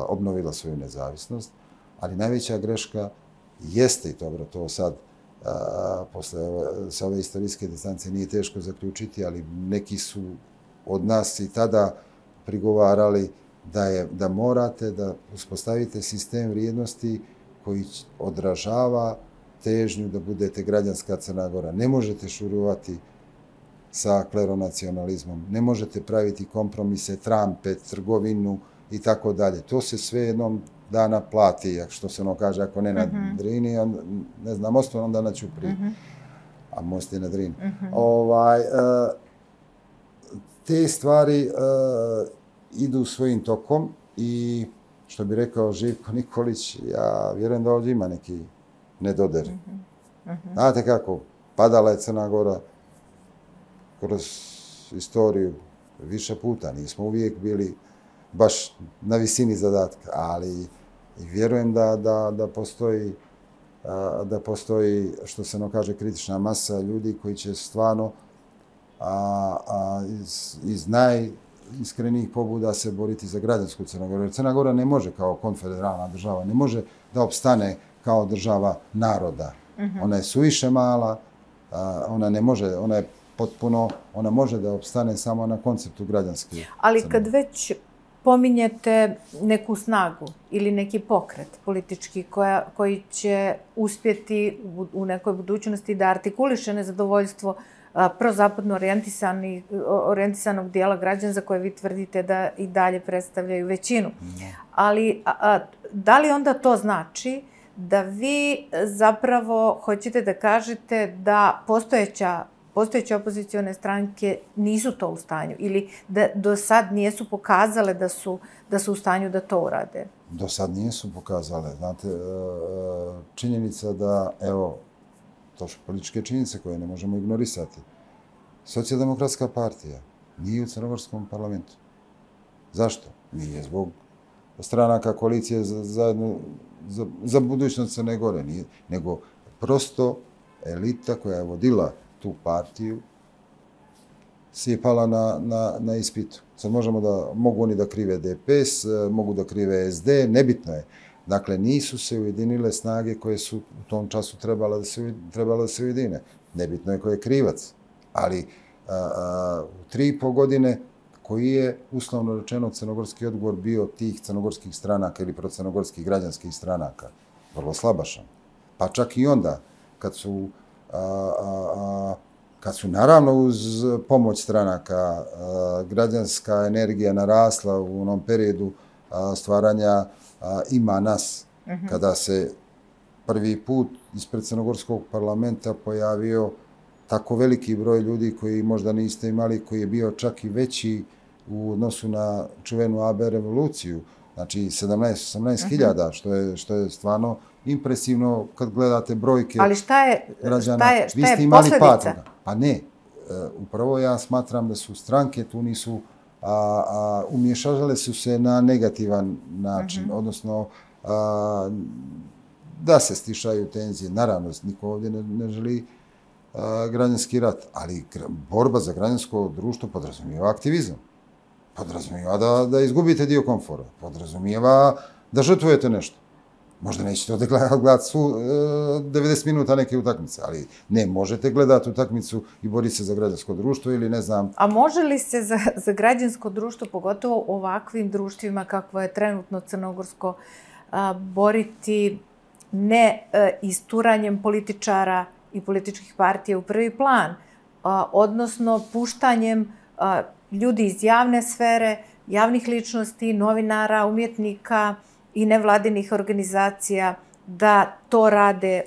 obnovila svoju nezavisnost, ali najveća greška jeste, i dobro, to sad sa ove istorijske distance nije teško zaključiti, ali neki su od nas i tada prigovarali da morate da uspostavite sistem vrijednosti koji odražava težnju da budete građanska Crna Gora. Ne možete šurovati sa kleronacionalizmom, ne možete praviti kompromise, trampe, trgovinu i tako dalje. To se sve jednom dana plati, što se ono kaže, ako ne na Drini, ne znam, mostu, onda na Ćupriji. A most je na Drini. Te stvari idu svojim tokom i, što bi rekao Živko Nikolić, ja vjerujem da ovdje ima neki nedoder. Znate kako, padala je Crna Gora kroz istoriju više puta. Nismo uvijek bili baš na visini zadatka, ali vjerujem da postoji, što se kaže, kritična masa ljudi koji će stvarno iz najiskrenijih pobuda se boriti za građansku Crnu Goru. Jer Crna Gora ne može kao konfederalna država, ne može da opstane kao država naroda. Ona je suviše mala, ona ne može, ona može da opstane samo na konceptu građanske. Ali kad već pominjete neku snagu ili neki pokret politički koji će uspjeti u nekoj budućnosti da artikuliše nezadovoljstvo prozapadno orijentisanog dijela građana za koje vi tvrdite da i dalje predstavljaju većinu. Ali da li onda to znači da vi zapravo hoćete da kažete da postojeće opozicione stranke nisu to u stanju ili da do sad nijesu pokazale da su u stanju da to urade? Do sad nijesu pokazale. Znate, činjenica da, evo, to su političke činjenice koje ne možemo ignorisati. Socijaldemokratska partija nije u crnogorskom parlamentu. Zašto? Nije zbog stranaka koalicije za budućnost Crne Gore, nego prosto elita koja je vodila tu partiju se je pala na ispitu. Sad mogu oni da krive DPS, mogu da krive SD, nebitno je. Dakle, nisu se ujedinile snage koje su u tom času trebala da se ujedine. Nebitno je ko je krivac. Ali u 3,5 godine koji je, uslovno rečeno, crnogorski odgovor bio tih crnogorskih stranaka ili procrnogorskih građanskih stranaka. Vrlo slabašan. Pa čak i onda, kad su naravno uz pomoć stranaka građanska energija narasla u onom periodu stvaranja Ima nas, kada se prvi put ispred crnogorskog parlamenta pojavio tako veliki broj ljudi koji možda niste imali, koji je bio čak i veći u odnosu na čuvenu AB revoluciju, znači 17-18 hiljada, što je stvarno impresivno kad gledate brojke građana. Ali šta je posljedica? Pa ne, upravo ja smatram da su stranke tu nisu, umješavale su se na negativan način, odnosno da se stišaju tenzije. Naravno, niko ovdje ne želi građanski rat, ali borba za građansko društvo podrazumijeva aktivizam. Podrazumijeva da izgubite dio komfora. Podrazumijeva da žrtvujete nešto. Možda nećete ovdje gledati 90 minuta neke utakmice, ali ne, možete gledati utakmicu i boriti se za građansko društvo ili ne znam. A može li se za građansko društvo, pogotovo u ovakvim društvima kakvo je trenutno crnogorsko, boriti ne isturanjem političara i političkih partija u prvi plan, odnosno puštanjem ljudi iz javne sfere, javnih ličnosti, novinara, umjetnika i nevladinih organizacija da to rade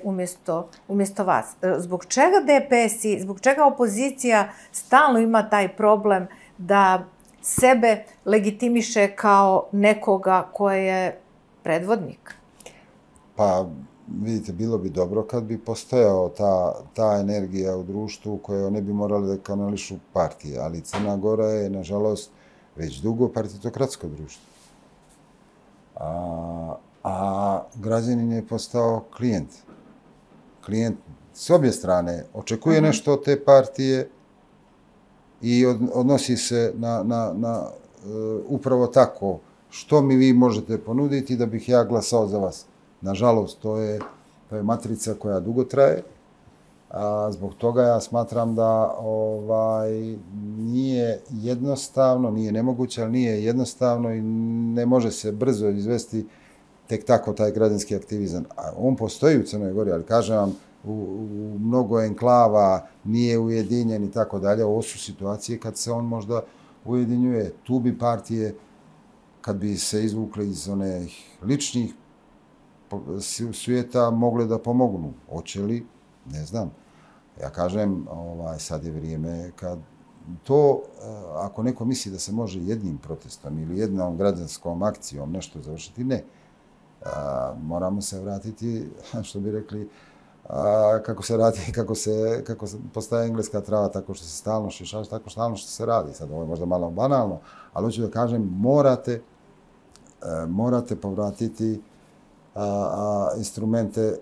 umjesto vas? Zbog čega DPS-i, zbog čega opozicija stalno ima taj problem da sebe legitimiše kao nekoga ko je predvodnik? Pa, vidite, bilo bi dobro kad bi postojao ta energija u društvu koje ne bi morali da kanališu partije, ali Crna Gora je, nažalost, već dugo partitokratsko društvo. A građanin je postao klijent. Klijent s obje strane očekuje nešto od te partije i odnosi se na upravo tako što mi vi možete ponuditi da bih ja glasao za vas. Nažalost, to je matrica koja dugo traje. Zbog toga ja smatram da nije jednostavno, nije nemoguće, ali nije jednostavno i ne može se brzo izvesti tek tako taj građanski aktivizam. On postoji u Crnoj Gori, ali kažem vam, u mnogo enklava nije ujedinjen i tako dalje. Ovo su situacije kad se on možda ujedinjuje. Tu bi partije, kad bi se izvukle iz onih ličnih svijeta, mogle da pomognu. Hoće li? Ne znam. Ja kažem, sad je vrijeme kad to, ako neko misli da se može jednim protestom ili jednom građanskom akcijom nešto završiti, ne. Moramo se vratiti, što bi rekli, kako se radi, kako postaje engleska trava, tako što se stalno šišaš, tako stalno što se radi. Sad ovo je možda malo banalno, ali hoću da kažem, morate morate povratiti instrumente,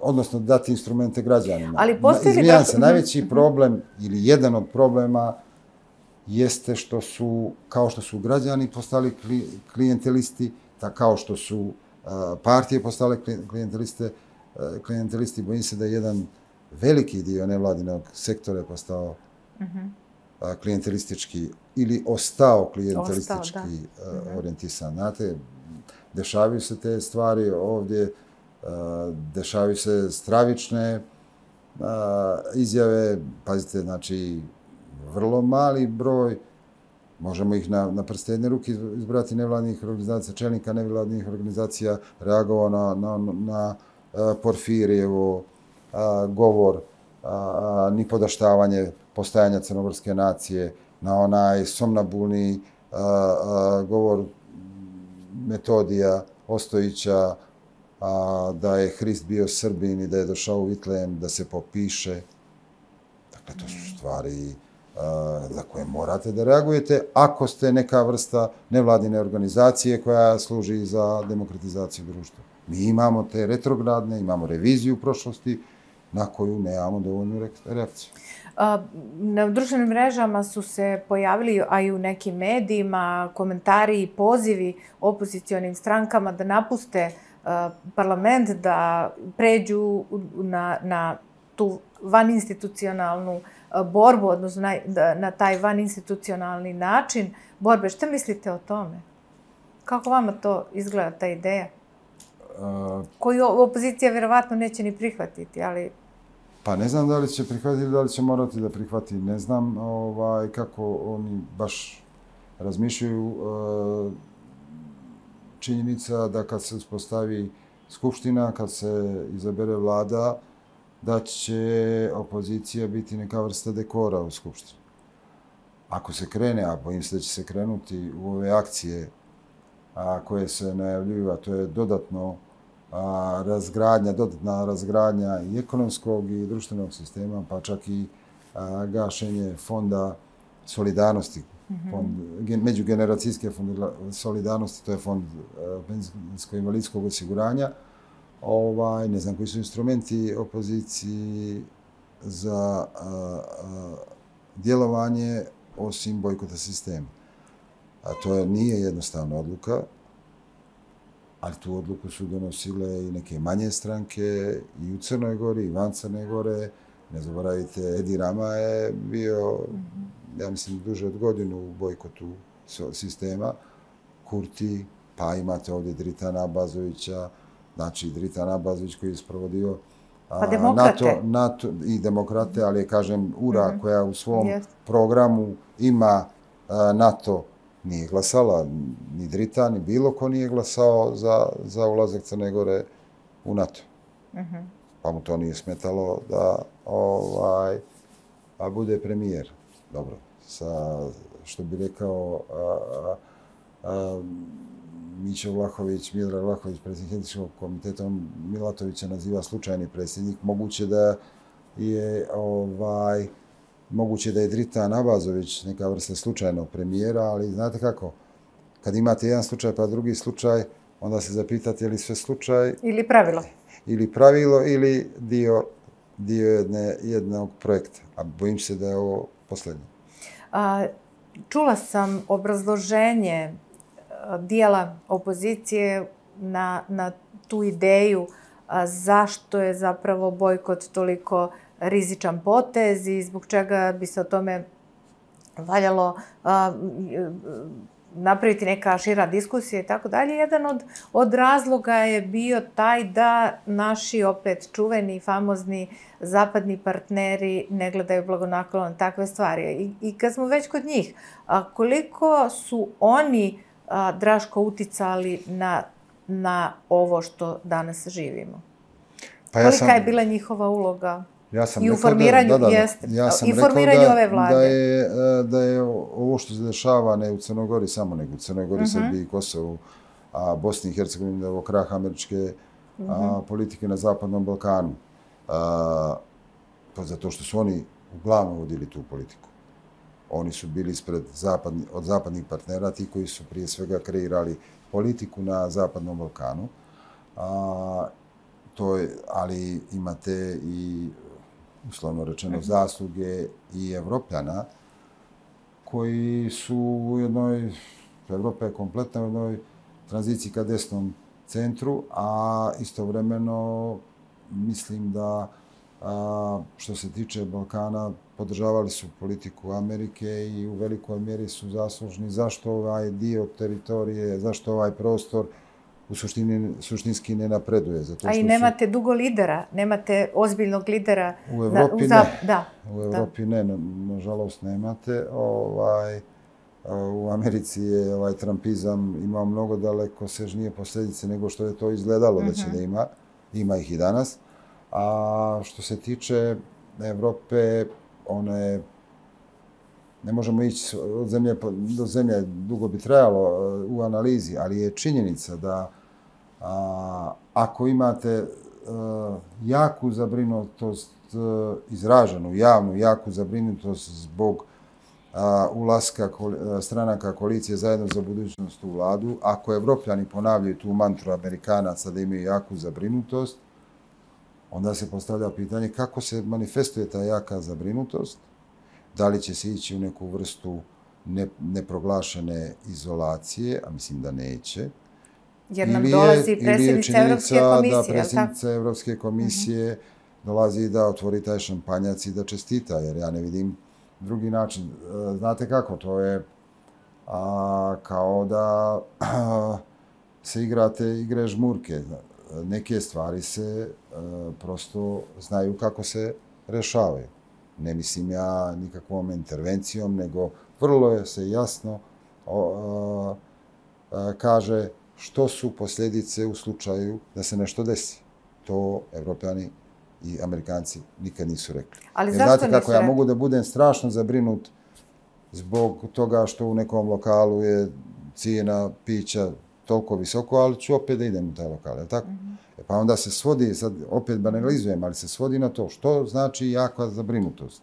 odnosno dati instrumente građanima. Ali postoji li... Izvijam se, najveći problem ili jedan od problema jeste što su, kao što su građani postali klijentelisti, kao što su partije postale klijentelisti, bojim se da je jedan veliki dio nevladinog sektora je postao klijentelistički ili ostao klijentelistički orijentisan. Znate, dešavaju se te stvari ovdje, dešavaju se stravične izjave, pazite, znači, vrlo mali broj, možemo ih na prste jedne ruke izbrati nevladnih organizacija, čelnika nevladnih organizacija, reagovao na Porfirijevo govor, nipodaštavanje postajanja crnogorske nacije, na onaj somnabulni govor Metodija Ostojića, da je Hrist bio Srbin i da je došao u Vitlem da se popiše. Dakle, to su stvari za koje morate da reagujete ako ste neka vrsta nevladine organizacije koja služi za demokratizaciju društva. Mi imamo te retrogradne, imamo reviziju prošlosti na koju nemamo dovoljnu reakciju. Na društvenim mrežama su se pojavili, a i u nekim medijima, komentari i pozivi opozicionim strankama da napuste parlament, da pređu na tu vaninstitucionalnu borbu, odnosno na taj vaninstitucionalni način borbe. Šta mislite o tome? Kako vama to izgleda, ta ideja? Koju opozicija vjerovatno neće ni prihvatiti, ali... Pa ne znam da li će prihvatiti, da li će morati da prihvati. Ne znam kako oni baš razmišljaju. Činjenica da kad se uspostavi skupština, kad se izabere vlada, da će opozicija biti neka vrsta dekora u skupštini. Ako se krene, a bojim se da će se krenuti u ove akcije koje se najavljuju, a to je dodatna razgradnja i ekonomskog i društvenog sistema, pa čak i gašenje fonda solidarnosti, međugeneracijske solidarnosti, to je fond penzijsko-invalidskog osiguranja. Ne znam koji su instrumenti opoziciji za djelovanje osim bojkota sistema. A to nije jednostavna odluka, ali tu odluku su donosile i neke manje stranke i u Crnoj Gori, i van Crne Gore. Ne zaboravite, Edi Rama je bio, ja mislim, duže od godinu u bojkotu sistema. Kurti, pa imate ovdje Dritana Abazovića, znači Dritan Abazović koji je sprovodio NATO i demokrate, ali je, kažem, URA koja u svom programu ima NATO, nije glasala, ni Dritan, ni bilo ko nije glasao za ulazak Crne Gore u NATO. Pa mu to nije smetalo da bude premijer. Dobro, što bi rekao Mićo Vlahović, Miodrag Vlahović, predsjednik etičkog komiteta, on Milatovića naziva slučajni predsjednik. Moguće da je Dritan Abazović neka vrsta slučajnog premijera, ali znate kako, kad imate jedan slučaj pa drugi slučaj, onda se zapitate je li sve slučaj... Ili pravilo. Ili pravilo, ili dio jednog projekta. A bojim se da je ovo posljednje. Čula sam obrazloženje dijela opozicije na tu ideju zašto je zapravo bojkot toliko rizičan potez i zbog čega bi se o tome valjalo napraviti neka šira diskusija i tako dalje. Jedan od razloga je bio taj da naši opet čuveni, famozni zapadni partneri ne gledaju blagonaklono na takve stvari. I kad smo već kod njih, koliko su oni, Draško, uticali na ovo što danas živimo? Kolika je bila njihova uloga? I u formiranju ove vlade. Da je ovo što se dešava ne u Crnoj Gori samo, nego u Crnoj Gori, Srbiji, Kosovu, Bosni i Hercegovini, da je ovo krah američke politike na Zapadnom Balkanu. Zato što su oni uglavnom vodili tu politiku. Oni su bili od zapadnih partnera, ti koji su prije svega kreirali politiku na Zapadnom Balkanu. Ali imate i, uslovno rečeno, zasluge i Evropljana koji su u jednoj, Evropa je kompletna u jednoj tranziciji ka desnom centru, a istovremeno mislim da što se tiče Balkana podržavali su politiku Amerike i u velikoj mjeri su zaslužni zašto ovaj dio teritorije, zašto ovaj prostor u suštinski ne napreduje. A i nemate dugo lidera, nemate ozbiljnog lidera. U Evropi ne. U Evropi ne, nažalost nemate. U Americi je trumpizam imao mnogo dalekosežnije posljedice nego što je to izgledalo da će da ima. Ima ih i danas. A što se tiče Evrope, ona je, ne možemo ići od zemlje do zemlje, dugo bi trajalo u analizi, ali je činjenica da ako imate jaku zabrinutost, izraženu, javnu, jaku zabrinutost zbog ulaska stranaka koalicije Zajedno za budućnost u vladu, ako Evropljani ponavljaju tu mantru Amerikanaca da imaju jaku zabrinutost, onda se postavlja pitanje kako se manifestuje ta jaka zabrinutost, da li će se ići u neku vrstu neproglašene izolacije, a mislim da neće. Jer nam dolazi predsjednica Evropske komisije. Da predsjednica Evropske komisije dolazi da otvori taj šampanjac i da čestita, jer ja ne vidim drugi način. Znate kako, to je kao da se igrate igre žmurke. Neke stvari se prosto znaju kako se rešavaju. Ne mislim ja nikakvom intervencijom, nego vrlo se jasno kaže što su posljedice u slučaju da se nešto desi. To Evropljani i Amerikanci nikad nisu rekli. Ali zašto nisu rekli? Znate kako, ja mogu da budem strašno zabrinut zbog toga što u nekom lokalu je cijena pića toliko visoko, ali ću opet da idem u taj lokal, je li tako? Pa onda se svodi, sad opet banalizujem, ali se svodi na to što znači jaka zabrinutost.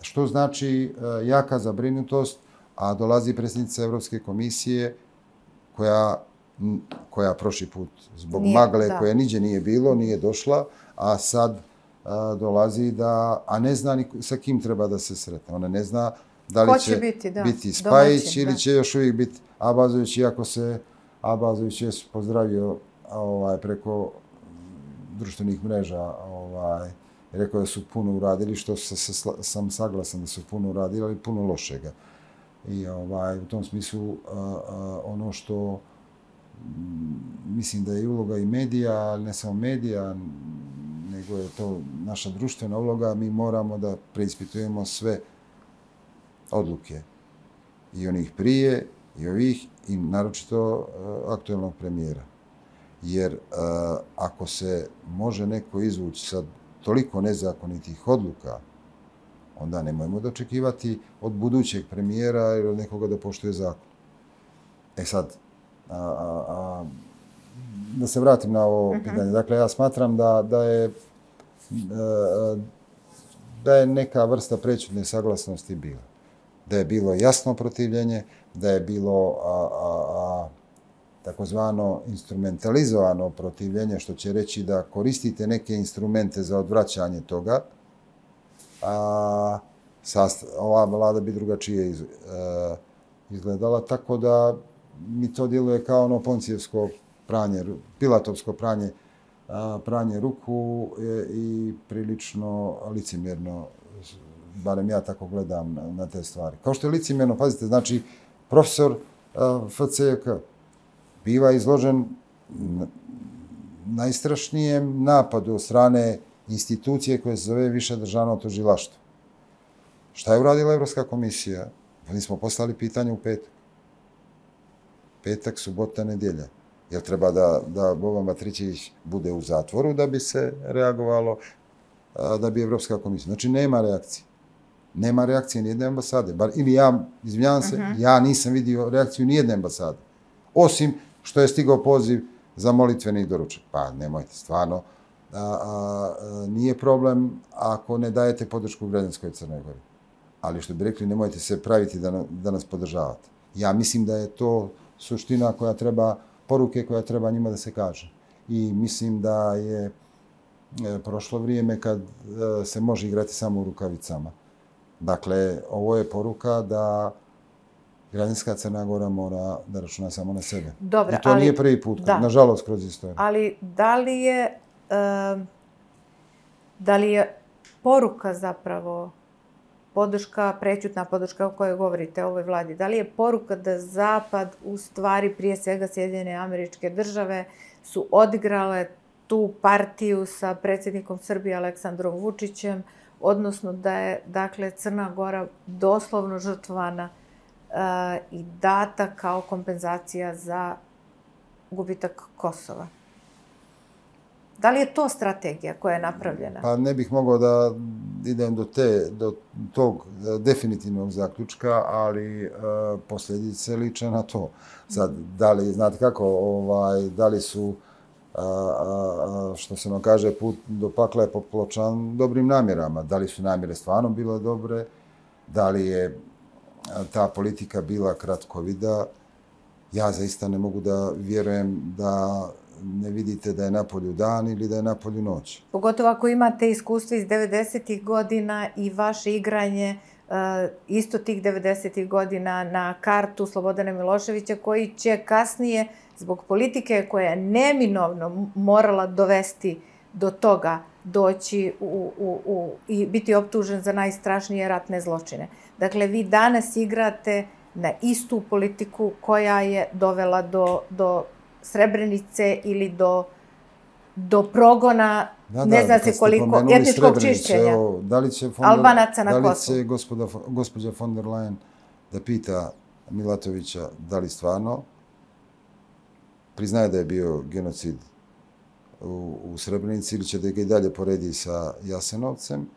Što znači jaka zabrinutost, a dolazi predsjednica Evropske komisije koja prošli put zbog magle koje niđe nije bilo, nije došla, a sad dolazi a ne zna ni sa kim treba da se sretne. Ona ne zna da li će biti Spajić ili će još uvijek biti Abazović, iako se Abazović je pozdravio preko društvenih mreža, rekao da su puno uradili, što sam saglasan da su puno uradili, ali puno lošega. I u tom smislu ono što mislim da je uloga i medija, ali ne samo medija, nego je to naša društvena uloga, mi moramo da preispitujemo sve odluke. I onih prije, i ovih, i naročito aktuelnog premijera. Jer ako se može neko izvući sad toliko nezakonitih odluka, onda nemojmo da očekivati od budućeg premijera ili od nekoga da poštuje zakon. E sad, da se vratim na ovo pitanje. Dakle, ja smatram da je neka vrsta prećutne saglasnosti bila. Da je bilo jasno protivljenje, da je bilo takozvano instrumentalizovano protivljenje, što će reći da koristite neke instrumente za odvraćanje toga, ova vlada bi drugačije izgledala, tako da mi to djeluje kao ono poncijevsko pranje, pilatovsko pranje ruku i prilično licemjerno, barem ja tako gledam na te stvari. Kao što je licemjerno, pazite, znači, profesor FCK biva izložen najstrašnijem napadu od strane institucije koje se zove Više državno tužilaštvo. Šta je uradila Evropska komisija? Mi smo poslali pitanje u petak. Petak, subota, nedjelja. Jel treba da Boban Matrićević bude u zatvoru da bi se reagovalo, da bi Evropska komisija... Znači, nema reakcije. Nema reakcije nijedne ambasade. Ili ja, izvinjavam se, ja nisam vidio reakciju nijedne ambasade. Osim što je stigao poziv za molitveni doručak. Pa nemojte, stvarno. Nije problem ako ne dajete podršku građanskoj Crnoj Gori. ali što bi rekli, nemojte se praviti da nas podržavate. Ja mislim da je to suština koja treba, poruke koja treba njima da se kaže. I mislim da je prošlo vrijeme kad se može igrati samo u rukavicama. Dakle, ovo je poruka da građanska Crna Gora mora da računa samo na sebe. Dobro, i to nije prvi put, nažalost, kroz istoriju. Ali da li je poruka zapravo podrška, prećutna podrška o kojoj govorite ovoj vladi, da li je poruka da Zapad, u stvari prije svega Sjedinjene Američke Države, su odigrale tu partiju sa predsjednikom Srbije Aleksandrom Vučićem, odnosno da je, dakle, Crna Gora doslovno žrtvovana i data kao kompenzacija za gubitak Kosova? Da li je to strategija koja je napravljena? Pa ne bih mogao da idem do tog definitivnog zaključka, ali posljedice liče na to. Sad, da li, znate kako, da li su, što se nam kaže, put do pakla je popločan dobrim namjerama. Da li su namjere stvarno bile dobre? Da li je ta politika bila kratkovida? Ja zaista ne mogu da vjerujem da ne vidite da je napolju dan ili da je napolju noć. Pogotovo ako imate iskustvo iz 90-ih godina i vaše igranje isto tih 90-ih godina na kartu Slobodana Miloševića, koji će kasnije, zbog politike koja je neminovno morala dovesti do toga, doći i biti optužen za najstrašnije ratne zločine. Dakle, vi danas igrate na istu politiku koja je dovela do Srebrenice ili do progona, ne zna se koliko, etničkog čišćenja Albanaca na Kosovu. Da li će gospođa von der Leyen da pita Milatovića da li stvarno priznaje da je bio genocid u Srebrenici ili će da ga i dalje poredi sa Jasenovcem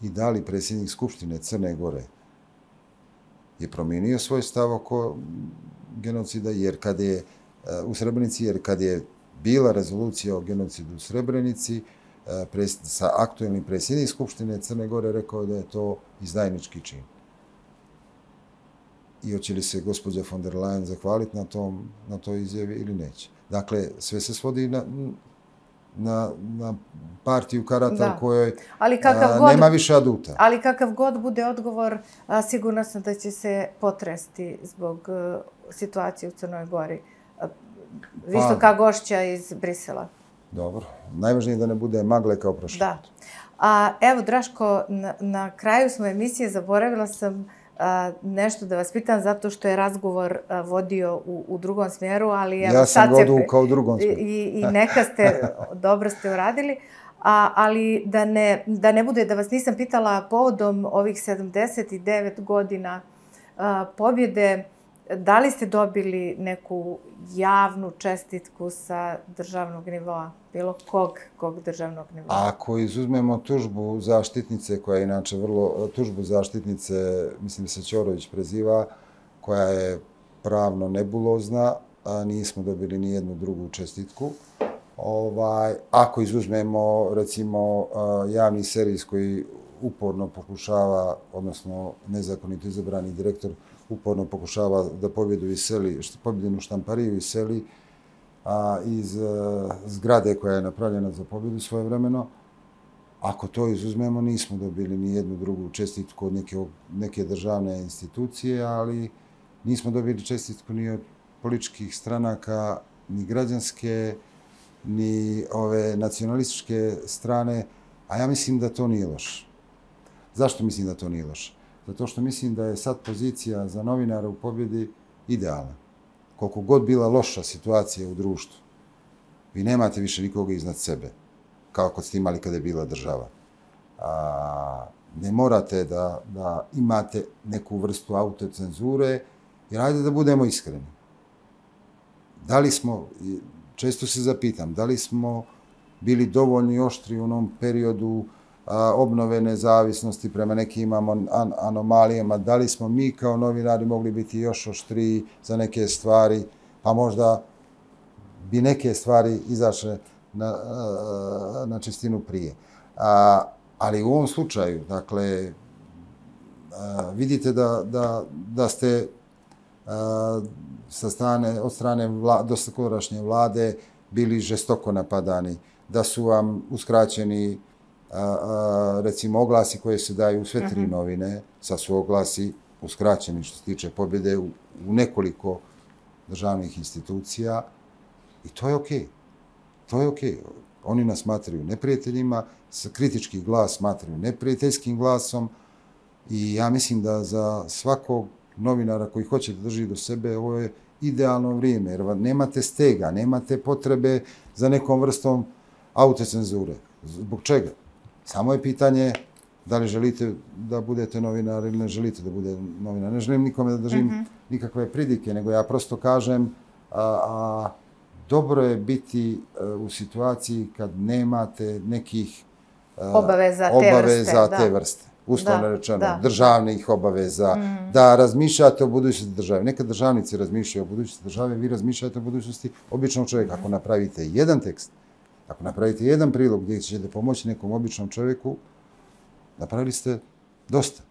i da li predsjednik Skupštine Crne Gore je promijenio svoj stav oko genocida, jer kad je u Srebrenici, jer kad je bila rezolucija o genocidu u Srebrenici, sa aktuelnim predsjednik Skupštine Crne Gore rekao da je to izdajnički čin. I hoće li se gospođa von der Leyen zahvaliti na toj izjavi ili neće. Dakle, sve se svodi na partiju karata u kojoj nema više aduta. Ali kakav god bude odgovor, sigurno sam da će se potresti zbog situacije u Crnoj Gori. Visoka gošća iz Brisela. Dobro. Najvažnije je da ne bude magle kao prošli put. Da. Evo, Draško, na kraju smo emisije, zaboravila sam nešto da vas pitam, zato što je razgovor vodio u drugom smjeru, ali evo ja sam odvukao u drugom smjeru. I neka ste, dobro ste uradili, ali da ne bude da vas nisam pitala povodom ovih 79 godina pobjede, da li ste dobili neku javnu čestitku sa državnog nivoa? Bilo kog državnog nivoa? Ako izuzmemo tužbu zaštitnice, koja je inače tužbu zaštitnice, mislim da se Ćorović preziva, koja je pravno nebulozna, nismo dobili ni jednu drugu čestitku. Ako izuzmemo, recimo, javni servis koji uporno pokušava, odnosno nezakonito izabrani direktor, uporno pokušava da pobjedinu štampariju iseli iz zgrade koja je napravljena za pobjedu svojevremeno. Ako to izuzmemo, nismo dobili ni jednu drugu čestitku od neke državne institucije, ali nismo dobili čestitku ni od političkih stranaka, ni građanske, ni ove nacionalističke strane, a ja mislim da to nije loše. Zašto mislim da to nije loše? Zato što mislim da je sad pozicija za novinara u pobjedi idealna. Koliko god bila loša situacija u društvu, vi nemate više nikoga iznad sebe, kao kod ste imali kada je bila država. Ne morate da imate neku vrstu autocenzure, jer ajde da budemo iskreni. Da li smo, često se zapitam, da li smo bili dovoljno oštri u onom periodu obnove nezavisnosti prema nekim anomalijama, da li smo mi kao novinari mogli biti još oštriji za neke stvari, pa možda bi neke stvari izašle na čistinu prije. Ali u ovom slučaju, dakle, vidite da ste od strane doskorašnje vlade bili žestoko napadani, da su vam uskraćeni recimo oglasi koje se daju u sve 3 novine, sad su oglasi uskraćeni što se tiče pobjede u nekoliko državnih institucija i to je okej. To je okej. Oni nas smatraju neprijateljima, kritički glas smatraju neprijateljskim glasom i ja mislim da za svakog novinara koji hoće da drži do sebe ovo je idealno vrijeme, jer nemate stega, nemate potrebe za nekom vrstom autocenzure. Zbog čega? Samo je pitanje da li želite da budete novinar ili ne želite da bude novinar. Ne želim nikome da držim nikakve pridike, nego ja prosto kažem dobro je biti u situaciji kad nemate nekih obaveza te vrste. Uslovno rečeno, državnih obaveza, da razmišljate o budućnosti države. Nekad državnici razmišljaju o budućnosti države, vi razmišljate o budućnosti običnog čovjeka. Ako napravite jedan tekst, ako napravite jedan prilog gdje ćete pomoći nekom običnom čovjeku, napravili ste dosta.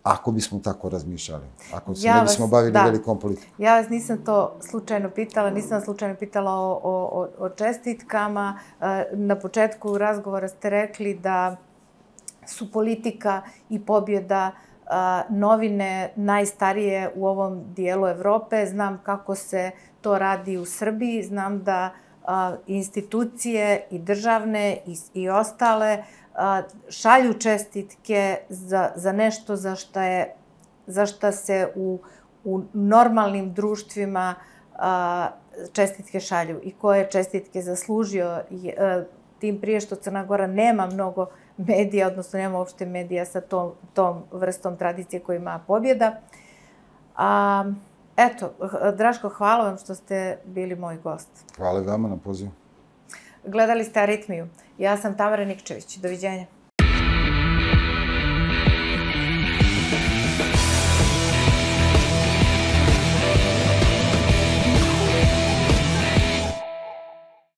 Ako bismo tako razmišljali, ako se ne bismo bavili velikom politikom. Ja vas nisam to slučajno pitala, nisam slučajno pitala o čestitkama. Na početku razgovora ste rekli da su politika i pobjeda novine najstarije u ovom dijelu Evrope. Znam kako se to radi u Srbiji, znam da institucije i državne i ostale šalju čestitke za nešto za šta se u normalnim društvima čestitke šalju i koje čestitke zaslužio, tim prije što Crna Gora nema mnogo medija, odnosno nema uopšte medija sa tom vrstom tradicije koju ima pobjeda. Eto, Draško, hvala vam što ste bili moj gost. Hvala vama na pozivu. Gledali ste Aritmiju. Ja sam Tamara Nikčević. Doviđenja.